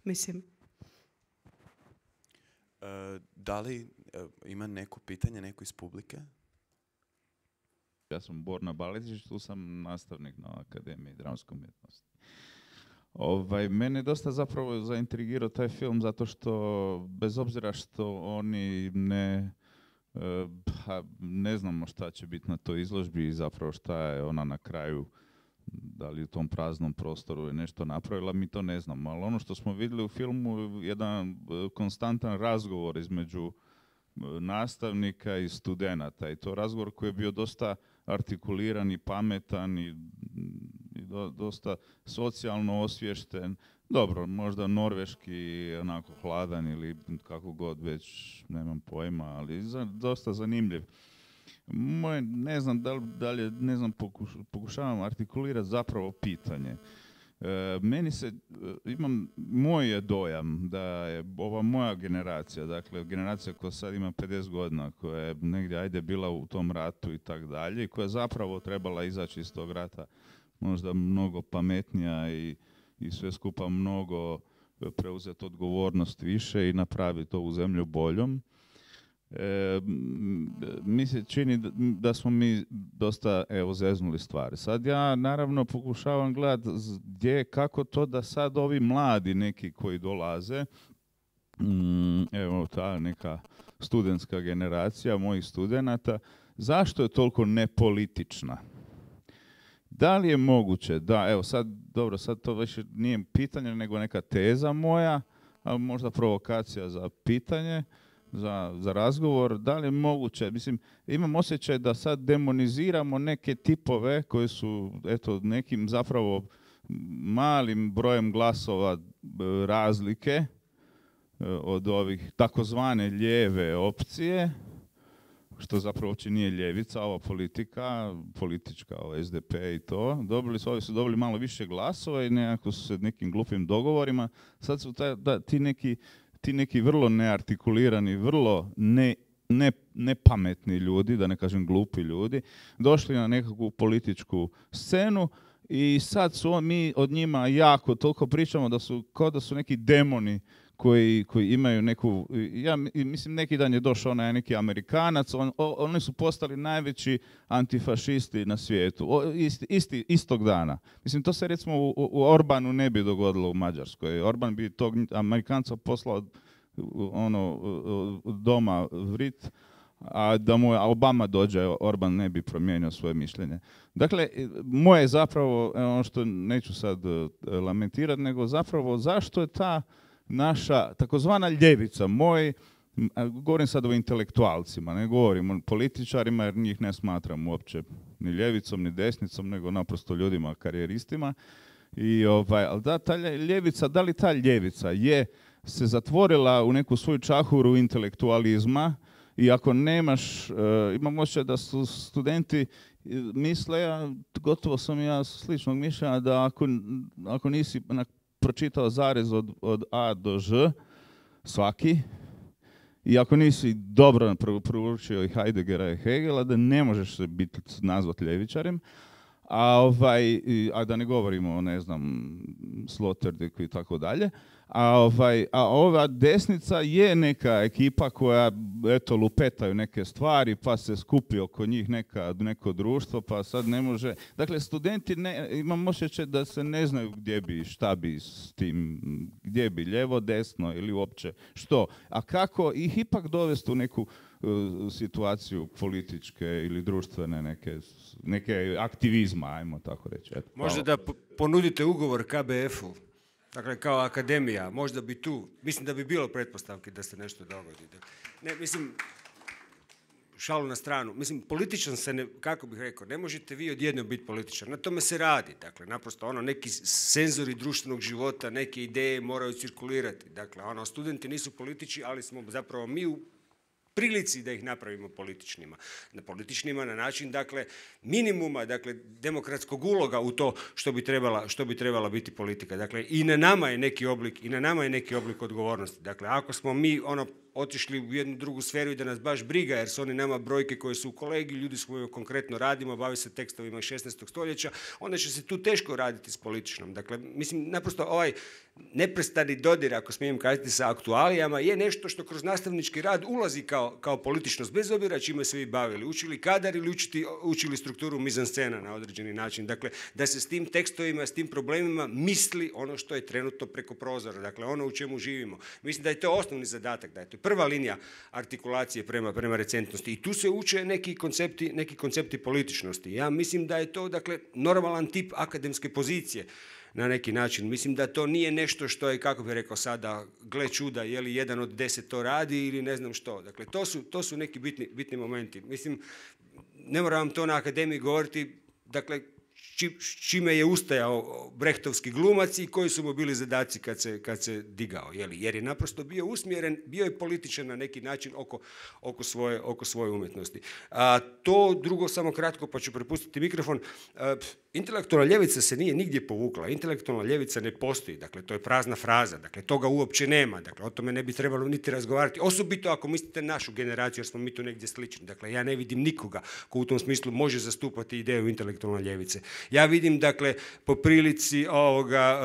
S5: Mislim...
S7: Uh, da li uh, ima neko pitanje, neko iz publike?
S8: Ja sam Borna Balezić, tu sam nastavnik na Akademiji dramske umjetnosti. Ovaj, mene dosta zapravo zaintrigirao taj film zato što, bez obzira što oni ne, uh, ha, ne znamo šta će biti na toj izložbi i zapravo šta je ona na kraju, da li u tom praznom prostoru je nešto napravila, mi to ne znamo. Ali ono što smo vidjeli u filmu je jedan konstantan razgovor između nastavnika i studenata. I to razgovor koji je bio dosta artikuliran i pametan i, i do, dosta socijalno osviješten. Dobro, možda norveški onako hladan ili kako god već, nemam pojma, ali za, dosta zanimljiv. Moj, ne znam da li, da li ne znam, pokuš, pokušavam artikulirati zapravo pitanje. E, meni se, imam, moj je dojam da je ova moja generacija, dakle generacija koja sad ima pedeset godina, koja je negdje ajde bila u tom ratu i tak dalje, i koja je zapravo trebala izaći iz tog rata možda mnogo pametnija i, i sve skupa mnogo preuzeti odgovornost više i napraviti ovu zemlju boljom. E, mi se čini da, da smo mi dosta evo zeznuli stvari. Sad ja naravno pokušavam gledati gdje, kako to da sad ovi mladi neki koji dolaze, mm, evo ta neka studentska generacija mojih studenata, zašto je toliko nepolitična? Da li je moguće da, evo sad, dobro, sad to više nije pitanje nego neka teza moja, a možda provokacija za pitanje, Za, za razgovor, da li je moguće, mislim, imam osjećaj da sad demoniziramo neke tipove koji su, eto, nekim zapravo malim brojem glasova razlike od ovih takozvane lijeve opcije, što zapravo uopće nije ljevica, ova politika, politička, ova S D P i to, dobili su, ovi su dobili malo više glasova i nekako su se nekim glupim dogovorima, sad su taj, da, ti neki ti neki vrlo neartikulirani, vrlo ne, ne, nepametni ljudi, da ne kažem glupi ljudi, došli na nekakvu političku scenu i sad su mi od njima jako toliko pričamo da su kao da su neki demoni koji, koji imaju neku, ja mislim neki dan je došao onaj neki Amerikanac, on, oni su postali najveći antifašisti na svijetu, o, isti, isti, istog dana. Mislim, to se recimo u, u Orbanu ne bi dogodilo u Mađarskoj. Orban bi tog Amerikanca poslao ono, doma vrit, a da mu Obama dođe, Orban ne bi promijenio svoje mišljenje. Dakle, moje zapravo, ono što neću sad lamentirati, nego zapravo zašto je ta naša takozvana ljevica, moj, govorim sad o intelektualcima, ne govorim o političarima jer njih ne smatram uopće ni ljevicom ni desnicom, nego naprosto ljudima, karijeristima. I ovaj, ali da, ta ljevica, da li ta ljevica je se zatvorila u neku svoju čahuru intelektualizma i ako nemaš, uh, imam osjećaj da su studenti misle, ja, gotovo sam ja sličnog mišljenja da ako, ako nisi pročitao zarez od, od A do Ž, svaki, i ako nisi dobro proučio i Heideggera i Hegela, da ne možeš se biti nazvat ljevičarem, a, ovaj, a da ne govorimo o, ne znam, Sloterdijku i tako dalje. A, ovaj, a ova desnica je neka ekipa koja, eto, lupetaju neke stvari, pa se skupi oko njih neka, neko društvo, pa sad ne može... Dakle, studenti, ne, imam osjećaj da se ne znaju gdje bi, šta bi s tim, gdje bi, lijevo, desno ili uopće što. A kako ih ipak dovesti u neku uh, situaciju političke ili društvene neke, neke aktivizma, ajmo tako reći. Eto,
S4: možda da ponudite ugovor K B F-u. Dakle, kao akademija, možda bi tu, mislim da bi bilo pretpostavki da se nešto dogodi. Ne, mislim, šalu na stranu, mislim, političan se, ne, kako bih rekao, ne možete vi odjednom biti političar, na tome se radi, dakle, naprosto ono, neki senzori društvenog života, neke ideje moraju cirkulirati, dakle, ono, studenti nisu politički, ali smo zapravo mi u prilici da ih napravimo političnima. Na političnima na način, dakle, minimuma, dakle, demokratskog uloga u to što bi trebala, što bi trebala biti politika. Dakle, i na nama je neki oblik, i na nama je neki oblik odgovornosti. Dakle, ako smo mi, ono, otišli u jednu drugu sferu i da nas baš briga, jer su oni nama brojke koje su u kolegiju, ljudi s kojima konkretno radimo, bavi se tekstovima iz šesnaestog stoljeća, onda će se tu teško raditi s političnom. Dakle, mislim, naprosto ovaj neprestani dodir, ako smijem kazati, sa aktualijama, je nešto što kroz nastavnički rad ulazi kao, kao političnost, bez obzira čime se vi bavili. Učili kadar ili učiti, učili strukturu mizanscena na određeni način. Dakle, da se s tim tekstovima, s tim problemima misli ono što je trenutno preko prozora, dakle, ono u čemu živimo. Mislim da je to osnovni zadatak, da je to prva linija artikulacije prema, prema recentnosti. I tu se uče neki koncepti, neki koncepti političnosti. Ja mislim da je to, dakle, normalan tip akademske pozicije na neki način. Mislim da to nije nešto što je, kako bih rekao sada, gle čuda, je li jedan od deset to radi ili ne znam što. Dakle, to su, to su neki bitni, bitni momenti. Mislim, ne moram vam to na akademiji govoriti, dakle, či, čime je ustajao brehtovski glumac i koji su mu bili zadaci kad se, kad se digao. Je li? Jer je naprosto bio usmjeren, bio je političan na neki način oko, oko, svoje, oko svoje umjetnosti. A, to drugo, samo kratko, pa ću prepustiti mikrofon. A, intelektualna ljevica se nije nigdje povukla. Intelektualna ljevica ne postoji. Dakle, to je prazna fraza. Dakle, toga uopće nema. Dakle, o tome ne bi trebalo niti razgovarati. Osobito ako mislite našu generaciju, jer smo mi tu negdje slični. Dakle, ja ne vidim nikoga ko u tom smislu može zastupati ideju intelektualne ljevice. Ja vidim, dakle, po prilici ovoga,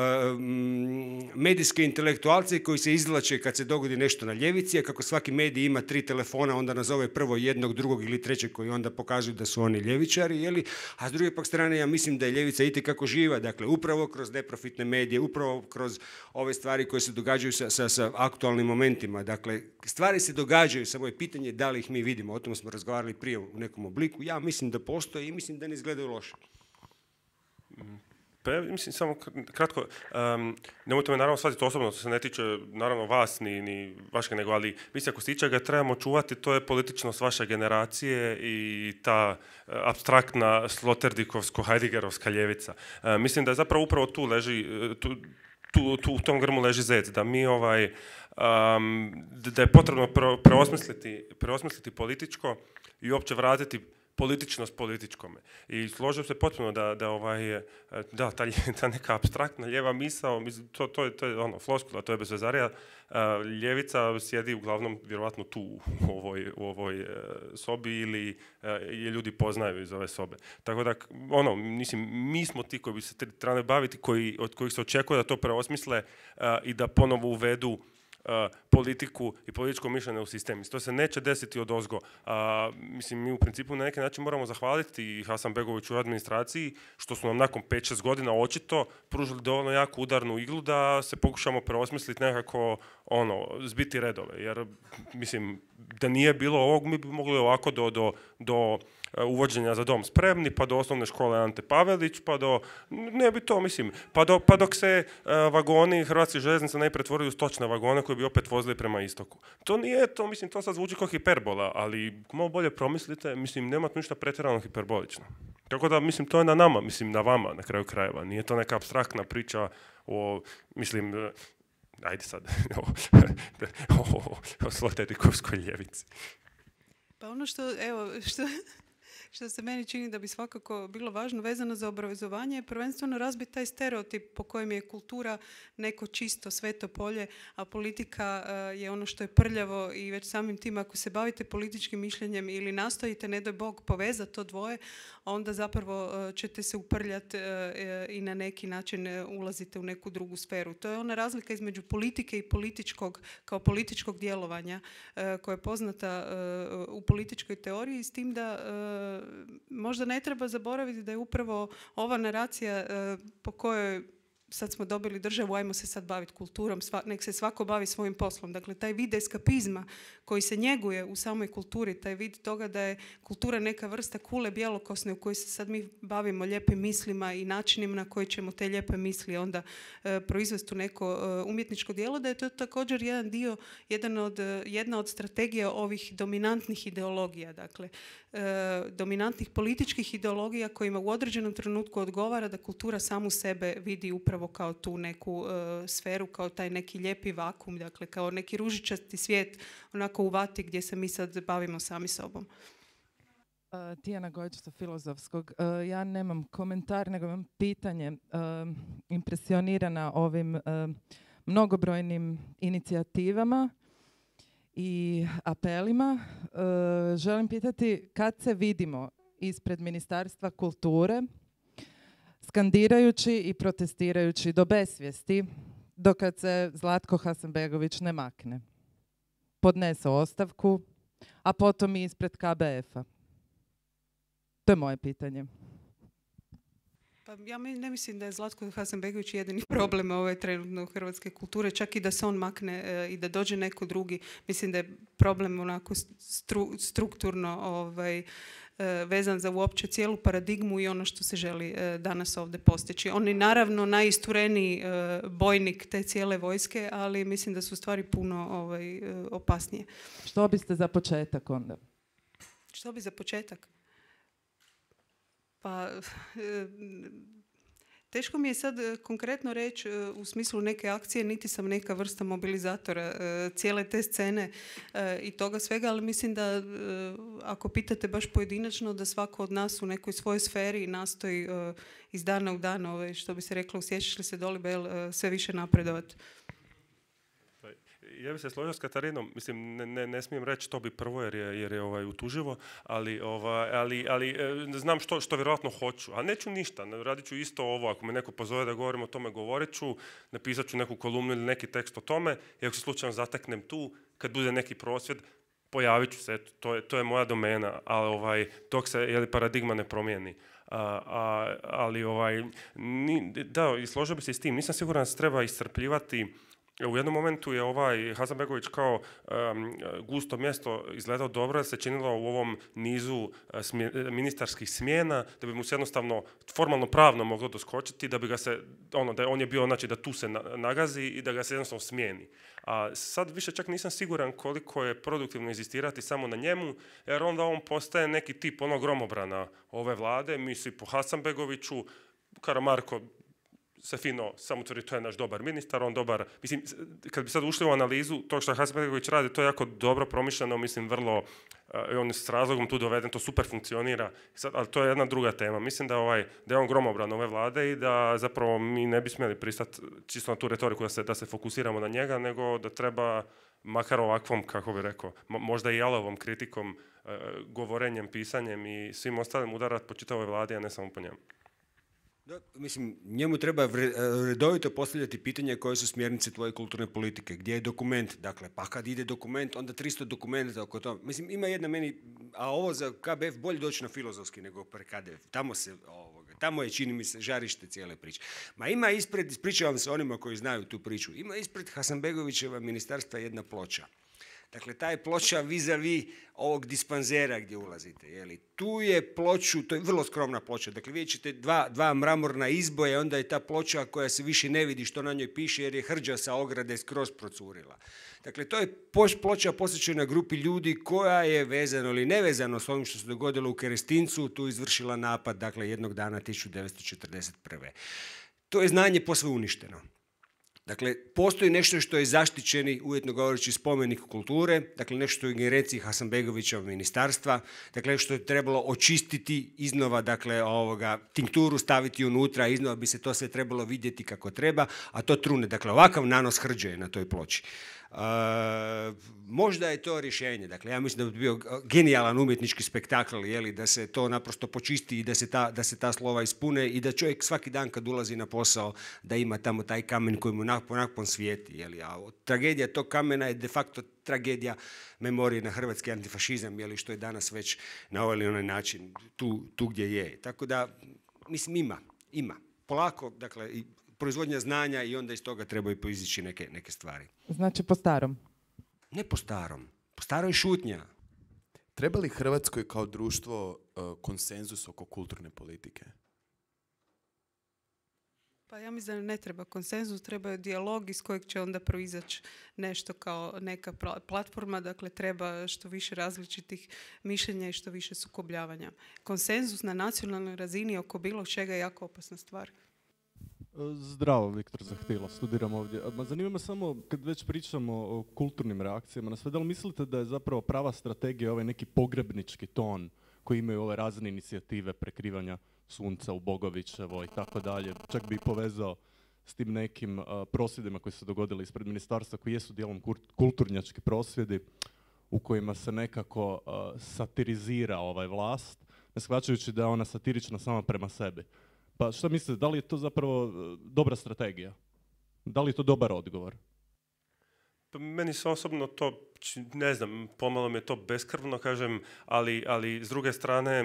S4: medijske intelektualce koji se izvlače kad se dogodi nešto na ljevici, a kako svaki medij ima tri telefona, onda nazove prvo jednog, drugog ili trećeg koji onda pokazuju da su oni ljevičari, jeli? A s druge pak strane, ja mislim da je ljevica itekako živa, dakle, upravo kroz neprofitne medije, upravo kroz ove stvari koje se događaju sa, sa, sa aktualnim momentima. Dakle, stvari se događaju, samo je pitanje da li ih mi vidimo. O tom smo razgovarali prije u nekom obliku. Ja mislim da postoje i mislim da ne izgledaju loše.
S6: Pa ja mislim, samo kratko, um, nemojte me naravno shvatiti osobno, to se ne tiče naravno vas ni, ni vašeg, nego, ali mislim, ako se ičega trebamo čuvati, to je političnost vaše generacije i ta uh, apstraktna sloterdikovsko-heideggerovska ljevica. Uh, mislim da je zapravo upravo tu leži, tu, tu, tu u tom grmu leži zec, da mi ovaj, um, da je potrebno preosmisliti, preosmisliti političko i uopće vratiti političnost političkome. I složio se potpuno da, da, ovaj, da ta, ta neka apstraktna lijeva misao, to, to, je, to je ono, floskula, to je bez vezarija. Ljevica sjedi uglavnom vjerovatno tu u ovoj, u ovoj sobi ili je ljudi poznaju iz ove sobe. Tako da, ono, mislim, mi smo ti koji bi se trebali baviti, koji, od kojih se očekuje da to preosmisle i da ponovo uvedu politiku i političko mišljenje u sistem. To se neće desiti od ozgo. A, mislim, mi u principu na neki način moramo zahvaliti i Hasanbegoviću u administraciji što su nam nakon pet šest godina očito pružili dovoljno jaku udarnu iglu da se pokušamo preosmisliti nekako ono, zbiti redove. Jer, mislim, da nije bilo ovog, mi bi mogli ovako do, do, do uvođenja Za dom spremni, pa do osnovne škole Ante Pavelić, pa do, ne bi to, mislim, pa, do, pa dok se uh, vagoni Hrvatskih željeznica ne pretvorili u stočne vagone koji bi opet vozili prema istoku. To nije to, mislim, to sad zvuči kao hiperbola, ali malo bolje promislite, mislim, nema tu ništa pretjerano hiperbolično. Tako da, mislim, to je na nama, mislim, na vama, na kraju krajeva. Nije to neka apstraktna priča o, mislim, uh, ajde sad, o, o, o, o slotetikovskoj ljevici.
S5: Pa ono što, evo, što... što se meni čini da bi svakako bilo važno vezano za obrazovanje, je prvenstveno razbiti taj stereotip po kojem je kultura neko čisto sveto polje, a politika uh, je ono što je prljavo i već samim tim ako se bavite političkim mišljenjem ili nastojite, ne doj Bog, povezati to dvoje, onda zapravo uh, ćete se uprljati uh, i na neki način uh, ulazite u neku drugu sferu. To je ona razlika između politike i političkog, kao političkog djelovanja uh, koja je poznata uh, u političkoj teoriji, s tim da uh, možda ne treba zaboraviti da je upravo ova naracija uh, po kojoj sad smo dobili državu, ajmo se sad baviti kulturom, sva, nek se svako bavi svojim poslom. Dakle, taj vid eskapizma koji se njeguje u samoj kulturi, taj vid toga da je kultura neka vrsta kule bjelokosne u kojoj se sad mi bavimo lijepim mislima i načinima na koji ćemo te lijepe misli onda e, proizvesti u neko e, umjetničko djelo, da je to također jedan dio, jedan od, jedna od strategija ovih dominantnih ideologija. Dakle, e, dominantnih političkih ideologija kojima u određenom trenutku odgovara da kultura samu sebe vidi upravo kao tu neku uh, sferu, kao taj neki lijepi vakum, dakle kao neki ružičasti svijet onako u vati gdje se mi sad bavimo sami sobom.
S9: Uh, Tijana Gojić sa Filozofskog. Uh, ja nemam komentar, nego imam pitanje. Uh, impresionirana ovim uh, mnogobrojnim inicijativama i apelima. Uh, želim pitati kad se vidimo ispred Ministarstva kulture skandirajući i protestirajući do besvijesti, dokad se Zlatko Hasanbegović ne makne. Podnese ostavku, a potom i ispred K B F-a. To je moje pitanje.
S5: Pa ja ne mislim da je Zlatko Hasanbegović jedini problem ove trenutno hrvatske kulture, čak i da se on makne e, i da dođe neko drugi. Mislim da je problem onako stru, strukturno ovaj, e, vezan za uopće cijelu paradigmu i ono što se želi e, danas ovdje postići. On je naravno najistureniji e, bojnik te cijele vojske, ali mislim da su stvari puno ovaj, e, opasnije.
S9: Što biste za početak onda?
S5: Što bi za početak? Pa, e, teško mi je sad konkretno reći e, u smislu neke akcije, niti sam neka vrsta mobilizatora e, cijele te scene e, i toga svega, ali mislim da e, ako pitate baš pojedinačno da svako od nas u nekoj svojoj sferi nastoji e, iz dana u dan, ove, što bi se reklo, usjećaš li se Dolibel, e, sve više napredovati.
S6: Ja bih se složio s Katarinom, mislim, ne, ne, ne smijem reći to bi prvo jer je, jer je ovaj, utuživo, ali, ovaj, ali, ali e, znam što, što vjerojatno hoću, a neću ništa, radit ću isto ovo, ako me neko pozove da govorim o tome, govorit ću, napisat ću neku kolumnu ili neki tekst o tome i ako se slučajno zateknem tu, kad bude neki prosvjed, pojavit ću se, to je, to je moja domena, ali ovaj, dok se jeli, paradigma ne promijeni. A, a, ali ovaj, ni, da, i složio bi se s tim, nisam siguran da se treba iscrpljivati. U jednom momentu je ovaj Hasanbegović kao um, gusto mjesto izgledao dobro, da se činilo u ovom nizu uh, smje, ministarskih smjena, da bi mu se jednostavno formalno pravno moglo doskočiti, da bi ga se, ono, da on je bio, znači da tu se na, nagazi i da ga se jednostavno smijeni. A sad više čak nisam siguran koliko je produktivno inzistirati samo na njemu, jer onda on postaje neki tip onog gromobrana ove vlade, misli po Hasanbegoviću, Karamarko se fino samo tvrdi, to je naš dobar ministar, on dobar, mislim, kad bi sad ušli u analizu tog što Hasanbegović radi, to je jako dobro promišljeno, mislim, vrlo, uh, on je s razlogom tu doveden, to super funkcionira, sad, ali to je jedna druga tema. Mislim da, ovaj, da je on gromobran ove vlade i da zapravo mi ne bi smjeli pristati čisto na tu retoriku da se, da se fokusiramo na njega, nego da treba makar ovakvom, kako bi rekao, možda i jalovom kritikom, uh, govorenjem, pisanjem i svim ostalim udarat po čitavoj vladi, a ne samo po njemu.
S4: Da, mislim, njemu treba redovito postavljati pitanja koje su smjernice tvoje kulturne politike. Gdje je dokument? Dakle, pa kad ide dokument, onda tristo dokumenta oko toga. Mislim, ima jedna meni, a ovo za K B F bolje doći na filozofski nego pre K D F. Tamo se, ovoga, tamo je, čini mi se, žarište cijele priče. Ma ima ispred, ispričavam se onima koji znaju tu priču, ima ispred Hasanbegovićeva ministarstva jedna ploča. Dakle, ta je ploča vis-a-vis ovog dispanzera gdje ulazite. Jeli. Tu je ploču, to je vrlo skromna ploča. Dakle, vidjet ćete dva, dva mramorna izboja, onda je ta ploča koja se više ne vidi što na njoj piše jer je hrđa sa ograde skroz procurila. Dakle, to je ploča posvećena grupi ljudi koja je vezano ili nevezano s ovim što se dogodilo u Kerestincu, tu izvršila napad, dakle, jednog dana tisuću devetsto četrdeset prve. To je znanje posve uništeno. Dakle, postoji nešto što je zaštićeni, uvjetno govoreći, spomenik kulture, dakle nešto u ingerenciji Hasanbegovićeva ministarstva, dakle što je trebalo očistiti iznova, dakle ovoga, tinkturu staviti unutra, iznova bi se to sve trebalo vidjeti kako treba, a to trune. Dakle, ovakav nanos hrđe je na toj ploči. Uh, možda je to rješenje, dakle ja mislim da bi bio genijalan umjetnički spektakl, jeli, da se to naprosto počisti i da se, ta, da se ta slova ispune i da čovjek svaki dan kad ulazi na posao da ima tamo taj kamen koji mu napon, napon svijeti, jeli, a tragedija tog kamena je de facto tragedija memorije na hrvatski antifašizam, jeli, što je danas već na ovaj ili onaj način tu, tu gdje je. Tako da, mislim, ima, ima. Polako, dakle, i proizvodnja znanja i onda iz toga trebaju proizići neke, neke stvari.
S9: Znači po starom?
S4: Ne po starom. Po staroj šutnja.
S7: Treba li Hrvatskoj kao društvo uh, konsenzus oko kulturne politike?
S5: Pa ja mislim da ne treba konsenzus, treba dijalog iz kojeg će onda proizaći nešto kao neka platforma, dakle treba što više različitih mišljenja i što više sukobljavanja. Konsenzus na nacionalnoj razini oko bilo čega je jako opasna stvar.
S10: Zdravo, Viktor Zahtila, studiram ovdje. Ma zanima me samo, kad već pričamo o kulturnim reakcijama na sve, da li mislite da je zapravo prava strategija ovaj neki pogrebnički ton koji imaju ove razne inicijative prekrivanja sunca u Bogovićevo i tako dalje, čak bi povezao s tim nekim uh, prosvjedima koji su se dogodili ispred ministarstva, koji jesu dijelom kulturnjački prosvjedi u kojima se nekako uh, satirizira ovaj vlast, ne shvaćajući da je ona satirična sama prema sebi. Pa šta mislite, da li je to zapravo dobra strategija? Da li je to dobar odgovor?
S6: Pa meni se osobno to, ne znam, pomalo mi je to beskrvno, kažem, ali, ali s druge strane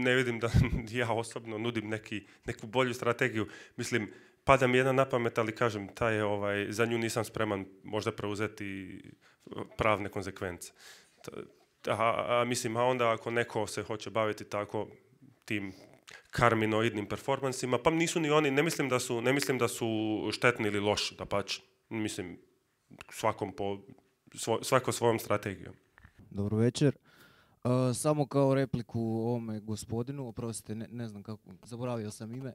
S6: ne vidim da ja osobno nudim neki, neku bolju strategiju. Mislim, pada mi jedna na pamet, ali kažem, ta je, ovaj, za nju nisam spreman možda preuzeti pravne konzekvence. A, a mislim, a onda ako neko se hoće baviti tako tim karminoidnim performansima, pa nisu ni oni, ne mislim da su, ne mislim da su štetni ili loši, dapače, mislim, svakom po, svo, svako svojom strategijom.
S11: Dobro večer. Uh, samo kao repliku ovome gospodinu, oprostite, ne, ne znam kako, zaboravio sam ime.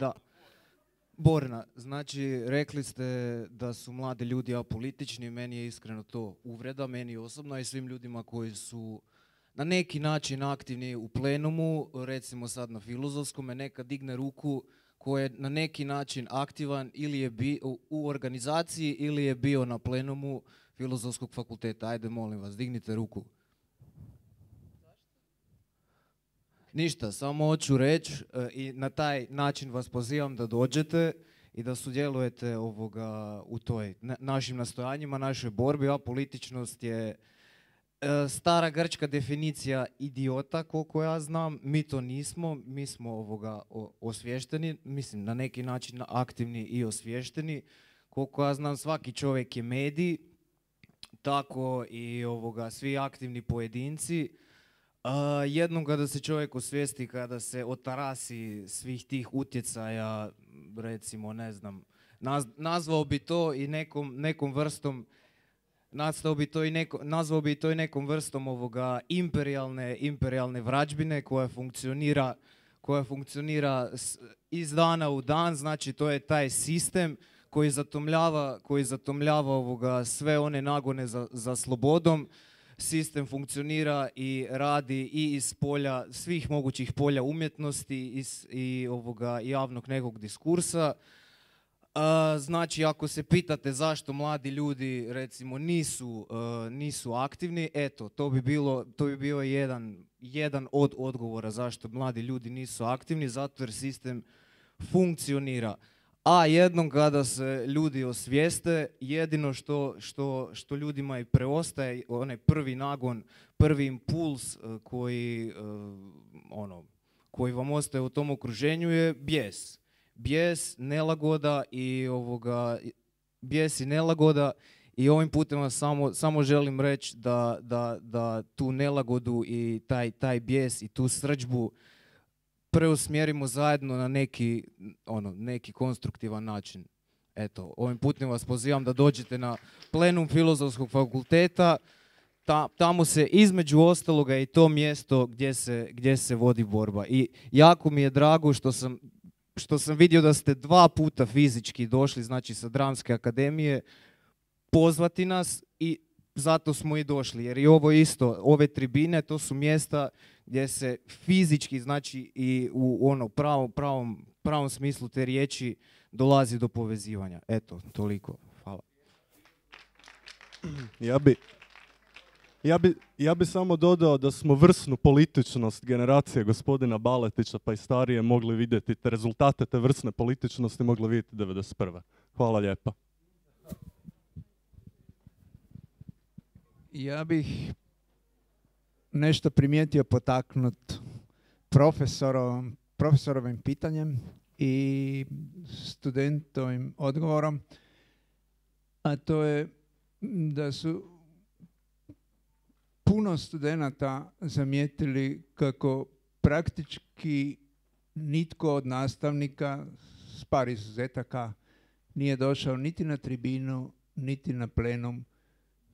S11: Da. Borna, znači rekli ste da su mladi ljudi apolitični, meni je iskreno to uvreda, meni osobno i svim ljudima koji su na neki način aktivni u plenumu, recimo sad na filozofskom, neka digne ruku ko je na neki način aktivan ili je bio u organizaciji ili je bio na plenumu Filozofskog fakulteta. Ajde, molim vas, dignite ruku. Ništa, samo hoću reći i na taj način vas pozivam da dođete i da sudjelujete ovoga u toj na, našim nastojanjima, našoj borbi. A političnost je stara grčka definicija idiota, koliko ja znam. Mi to nismo, mi smo ovoga osvješteni, mislim na neki način aktivni i osvješteni. Koliko ja znam, svaki čovjek je medij, tako i ovoga, svi aktivni pojedinci. Uh, jednom kada se čovjek osvijesti, kada se otarasi svih tih utjecaja, recimo, ne znam, naz, nazvao bi to i nekom, nekom vrstom Nazvao bi to i neko, nazvao bi to i nekom vrstom ovoga imperijalne, imperijalne vrađbine koja funkcionira, koja funkcionira iz dana u dan, znači to je taj sistem koji zatomljava, koji zatomljava ovoga sve one nagone za, za slobodom. Sistem funkcionira i radi i iz polja, svih mogućih polja umjetnosti i, i ovoga javnog nekog diskursa. A, znači, ako se pitate zašto mladi ljudi, recimo, nisu, uh, nisu aktivni, eto, to bi bilo, to bi bio jedan, jedan od odgovora zašto mladi ljudi nisu aktivni, zato jer sistem funkcionira. A jednom kada se ljudi osvijeste, jedino što, što, što ljudima i preostaje, onaj prvi nagon, prvi impuls uh, koji, uh, ono, koji vam ostaje u tom okruženju je bijes. Bijes, nelagoda i ovoga, bijes i nelagoda i ovim putem vam samo, samo želim reći da, da, da tu nelagodu i taj, taj bijes i tu srdžbu preusmjerimo zajedno na neki, ono, neki konstruktivan način. Eto, ovim putem vas pozivam da dođete na plenum Filozofskog fakulteta. Ta, tamo se između ostaloga i to mjesto gdje se, gdje se vodi borba. I jako mi je drago što sam što sam vidio da ste dva puta fizički došli, znači sa Dramske akademije, pozvati nas i zato smo i došli. Jer i ovo isto, ove tribine, to su mjesta gdje se fizički, znači i u ono pravom, pravom, pravom smislu te riječi dolazi do povezivanja. Eto, toliko. Hvala.
S10: Ja bi, ja bi, ja bi samo dodao da smo vrsnu političnost generacije gospodina Baletića pa i starije mogli vidjeti, te rezultate te vrsne političnosti mogli vidjeti devedeset prve. Hvala lijepa.
S12: Ja bih nešto primijetio potaknut profesorom, profesorovim pitanjem i studentovim odgovorom, a to je da su puno studenata zamijetili kako praktički nitko od nastavnika, s par izuzetaka, nije došao niti na tribinu, niti na plenum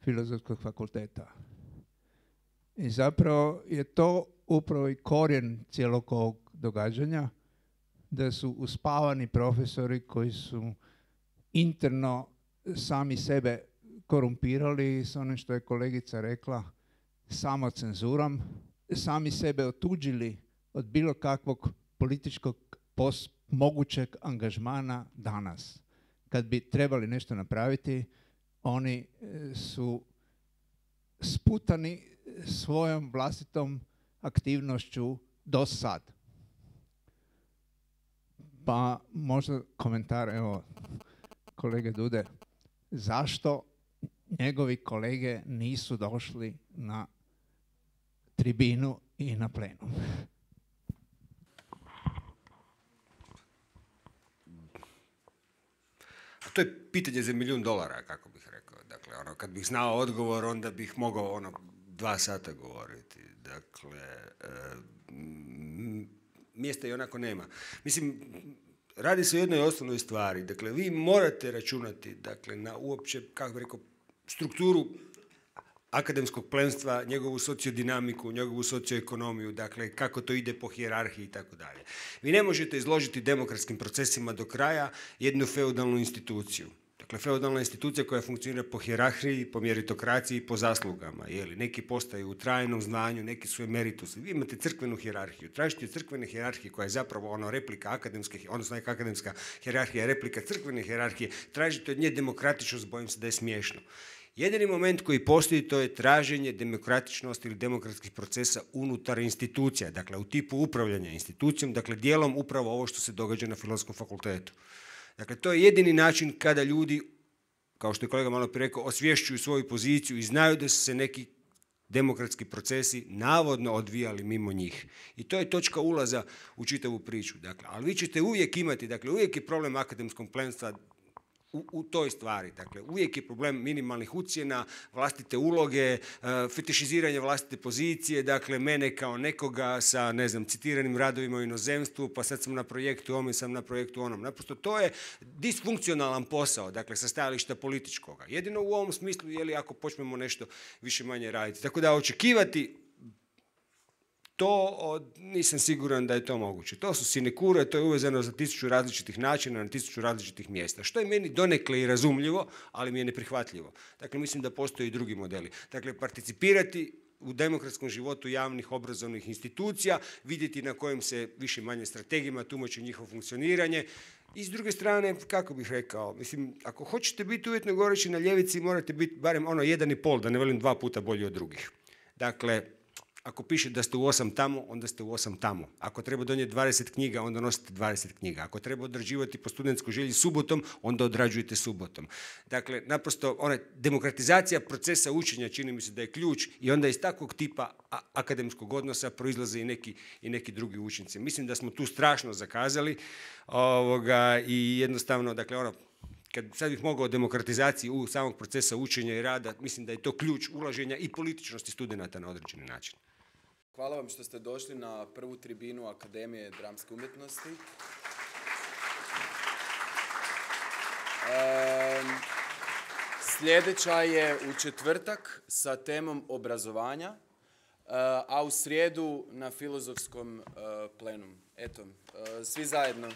S12: Filozofskog fakulteta. I zapravo je to upravo i korijen cijelog ovog događanja, da su uspavani profesori koji su interno sami sebe korumpirali s onim što je kolegica rekla, samo cenzurom, sami sebe otuđili od bilo kakvog političkog pos- mogućeg angažmana danas. Kad bi trebali nešto napraviti, oni su sputani svojom vlastitom aktivnošću do sad. Pa možda komentar, evo, kolege Dude, zašto njegovi kolege nisu došli na tribinu i na plenum?
S4: To je pitanje za milijun dolara, kako bih rekao. Dakle, ono, kad bih znao odgovor, onda bih mogao ono, dva sata govoriti. Dakle, e, mjesta i onako nema. Mislim, radi se o jednoj osnovnoj stvari. Dakle, vi morate računati, dakle, na uopće, kako bih rekao, strukturu akademskog plemstva, njegovu sociodinamiku, njegovu socioekonomiju, dakle, kako to ide po hijerarhiji i tako dalje. Vi ne možete izložiti demokratskim procesima do kraja jednu feudalnu instituciju. Dakle, feudalna institucija koja funkcionira po hijerarhiji, po meritokraciji, po zaslugama. Jeli, neki postaju u trajnom znanju, neki su emeritus. Vi imate crkvenu hijerarhiju. Tražite crkvene hijerarhije koja je zapravo ono replika akademske, odnosno neka akademska hijerarhija, replika crkvene hijerarhije. Tražite od nje demokratičnost, bojim se da je smiješno. Jedini moment koji postoji, to je traženje demokratičnosti ili demokratskih procesa unutar institucija, dakle u tipu upravljanja institucijom, dakle dijelom upravo ovo što se događa na Filozofskom fakultetu. Dakle, to je jedini način kada ljudi, kao što je kolega malo prije rekao, osvješćuju svoju poziciju i znaju da su se neki demokratski procesi navodno odvijali mimo njih. I to je točka ulaza u čitavu priču. Dakle, ali vi ćete uvijek imati, dakle uvijek je problem akademskog plemstva U, u toj stvari. Dakle, uvijek je problem minimalnih ucjena, vlastite uloge, fetišiziranje vlastite pozicije, dakle, mene kao nekoga sa, ne znam, citiranim radovima u inozemstvu, pa sad sam na projektu ovom i sam na projektu onom. Naprosto, to je disfunkcionalan posao, dakle, sa stajališta političkoga. Jedino u ovom smislu, je li ako počnemo nešto više manje raditi. Tako da očekivati to od, nisam siguran da je to moguće. To su sinekure, to je uvezano za tisuću različitih načina, na tisuću različitih mjesta. Što je meni donekle i razumljivo, ali mi je neprihvatljivo. Dakle, mislim da postoje i drugi modeli. Dakle, participirati u demokratskom životu javnih obrazovnih institucija, vidjeti na kojim se više manje strategijama tumači njihovo funkcioniranje. I s druge strane, kako bih rekao, mislim, ako hoćete biti uvjetno govoreći na ljevici, morate biti barem ono jedan i pol, da ne velim dva puta bolji od drugih. Dakle, ako piše da ste u osam tamo, onda ste u osam tamo. Ako treba donijeti dvadeset knjiga, onda nosite dvadeset knjiga. Ako treba odrađivati po studentskoj želji subotom, onda odrađujete subotom. Dakle, naprosto, ona demokratizacija procesa učenja čini mi se da je ključ i onda iz takvog tipa akademskog odnosa proizlaze i neki, i neki drugi učinci. Mislim da smo tu strašno zakazali ovoga, i jednostavno, dakle, ono, kad sad bih mogao o demokratizaciji u samog procesa učenja i rada, mislim da je to ključ ulaženja i političnosti studenata na određeni način.
S3: Hvala vam što ste došli na prvu tribinu Akademije dramske umjetnosti. Um, sljedeća je u četvrtak sa temom obrazovanja, uh, a u srijedu na filozofskom uh, plenumu. Eto, uh, svi zajedno.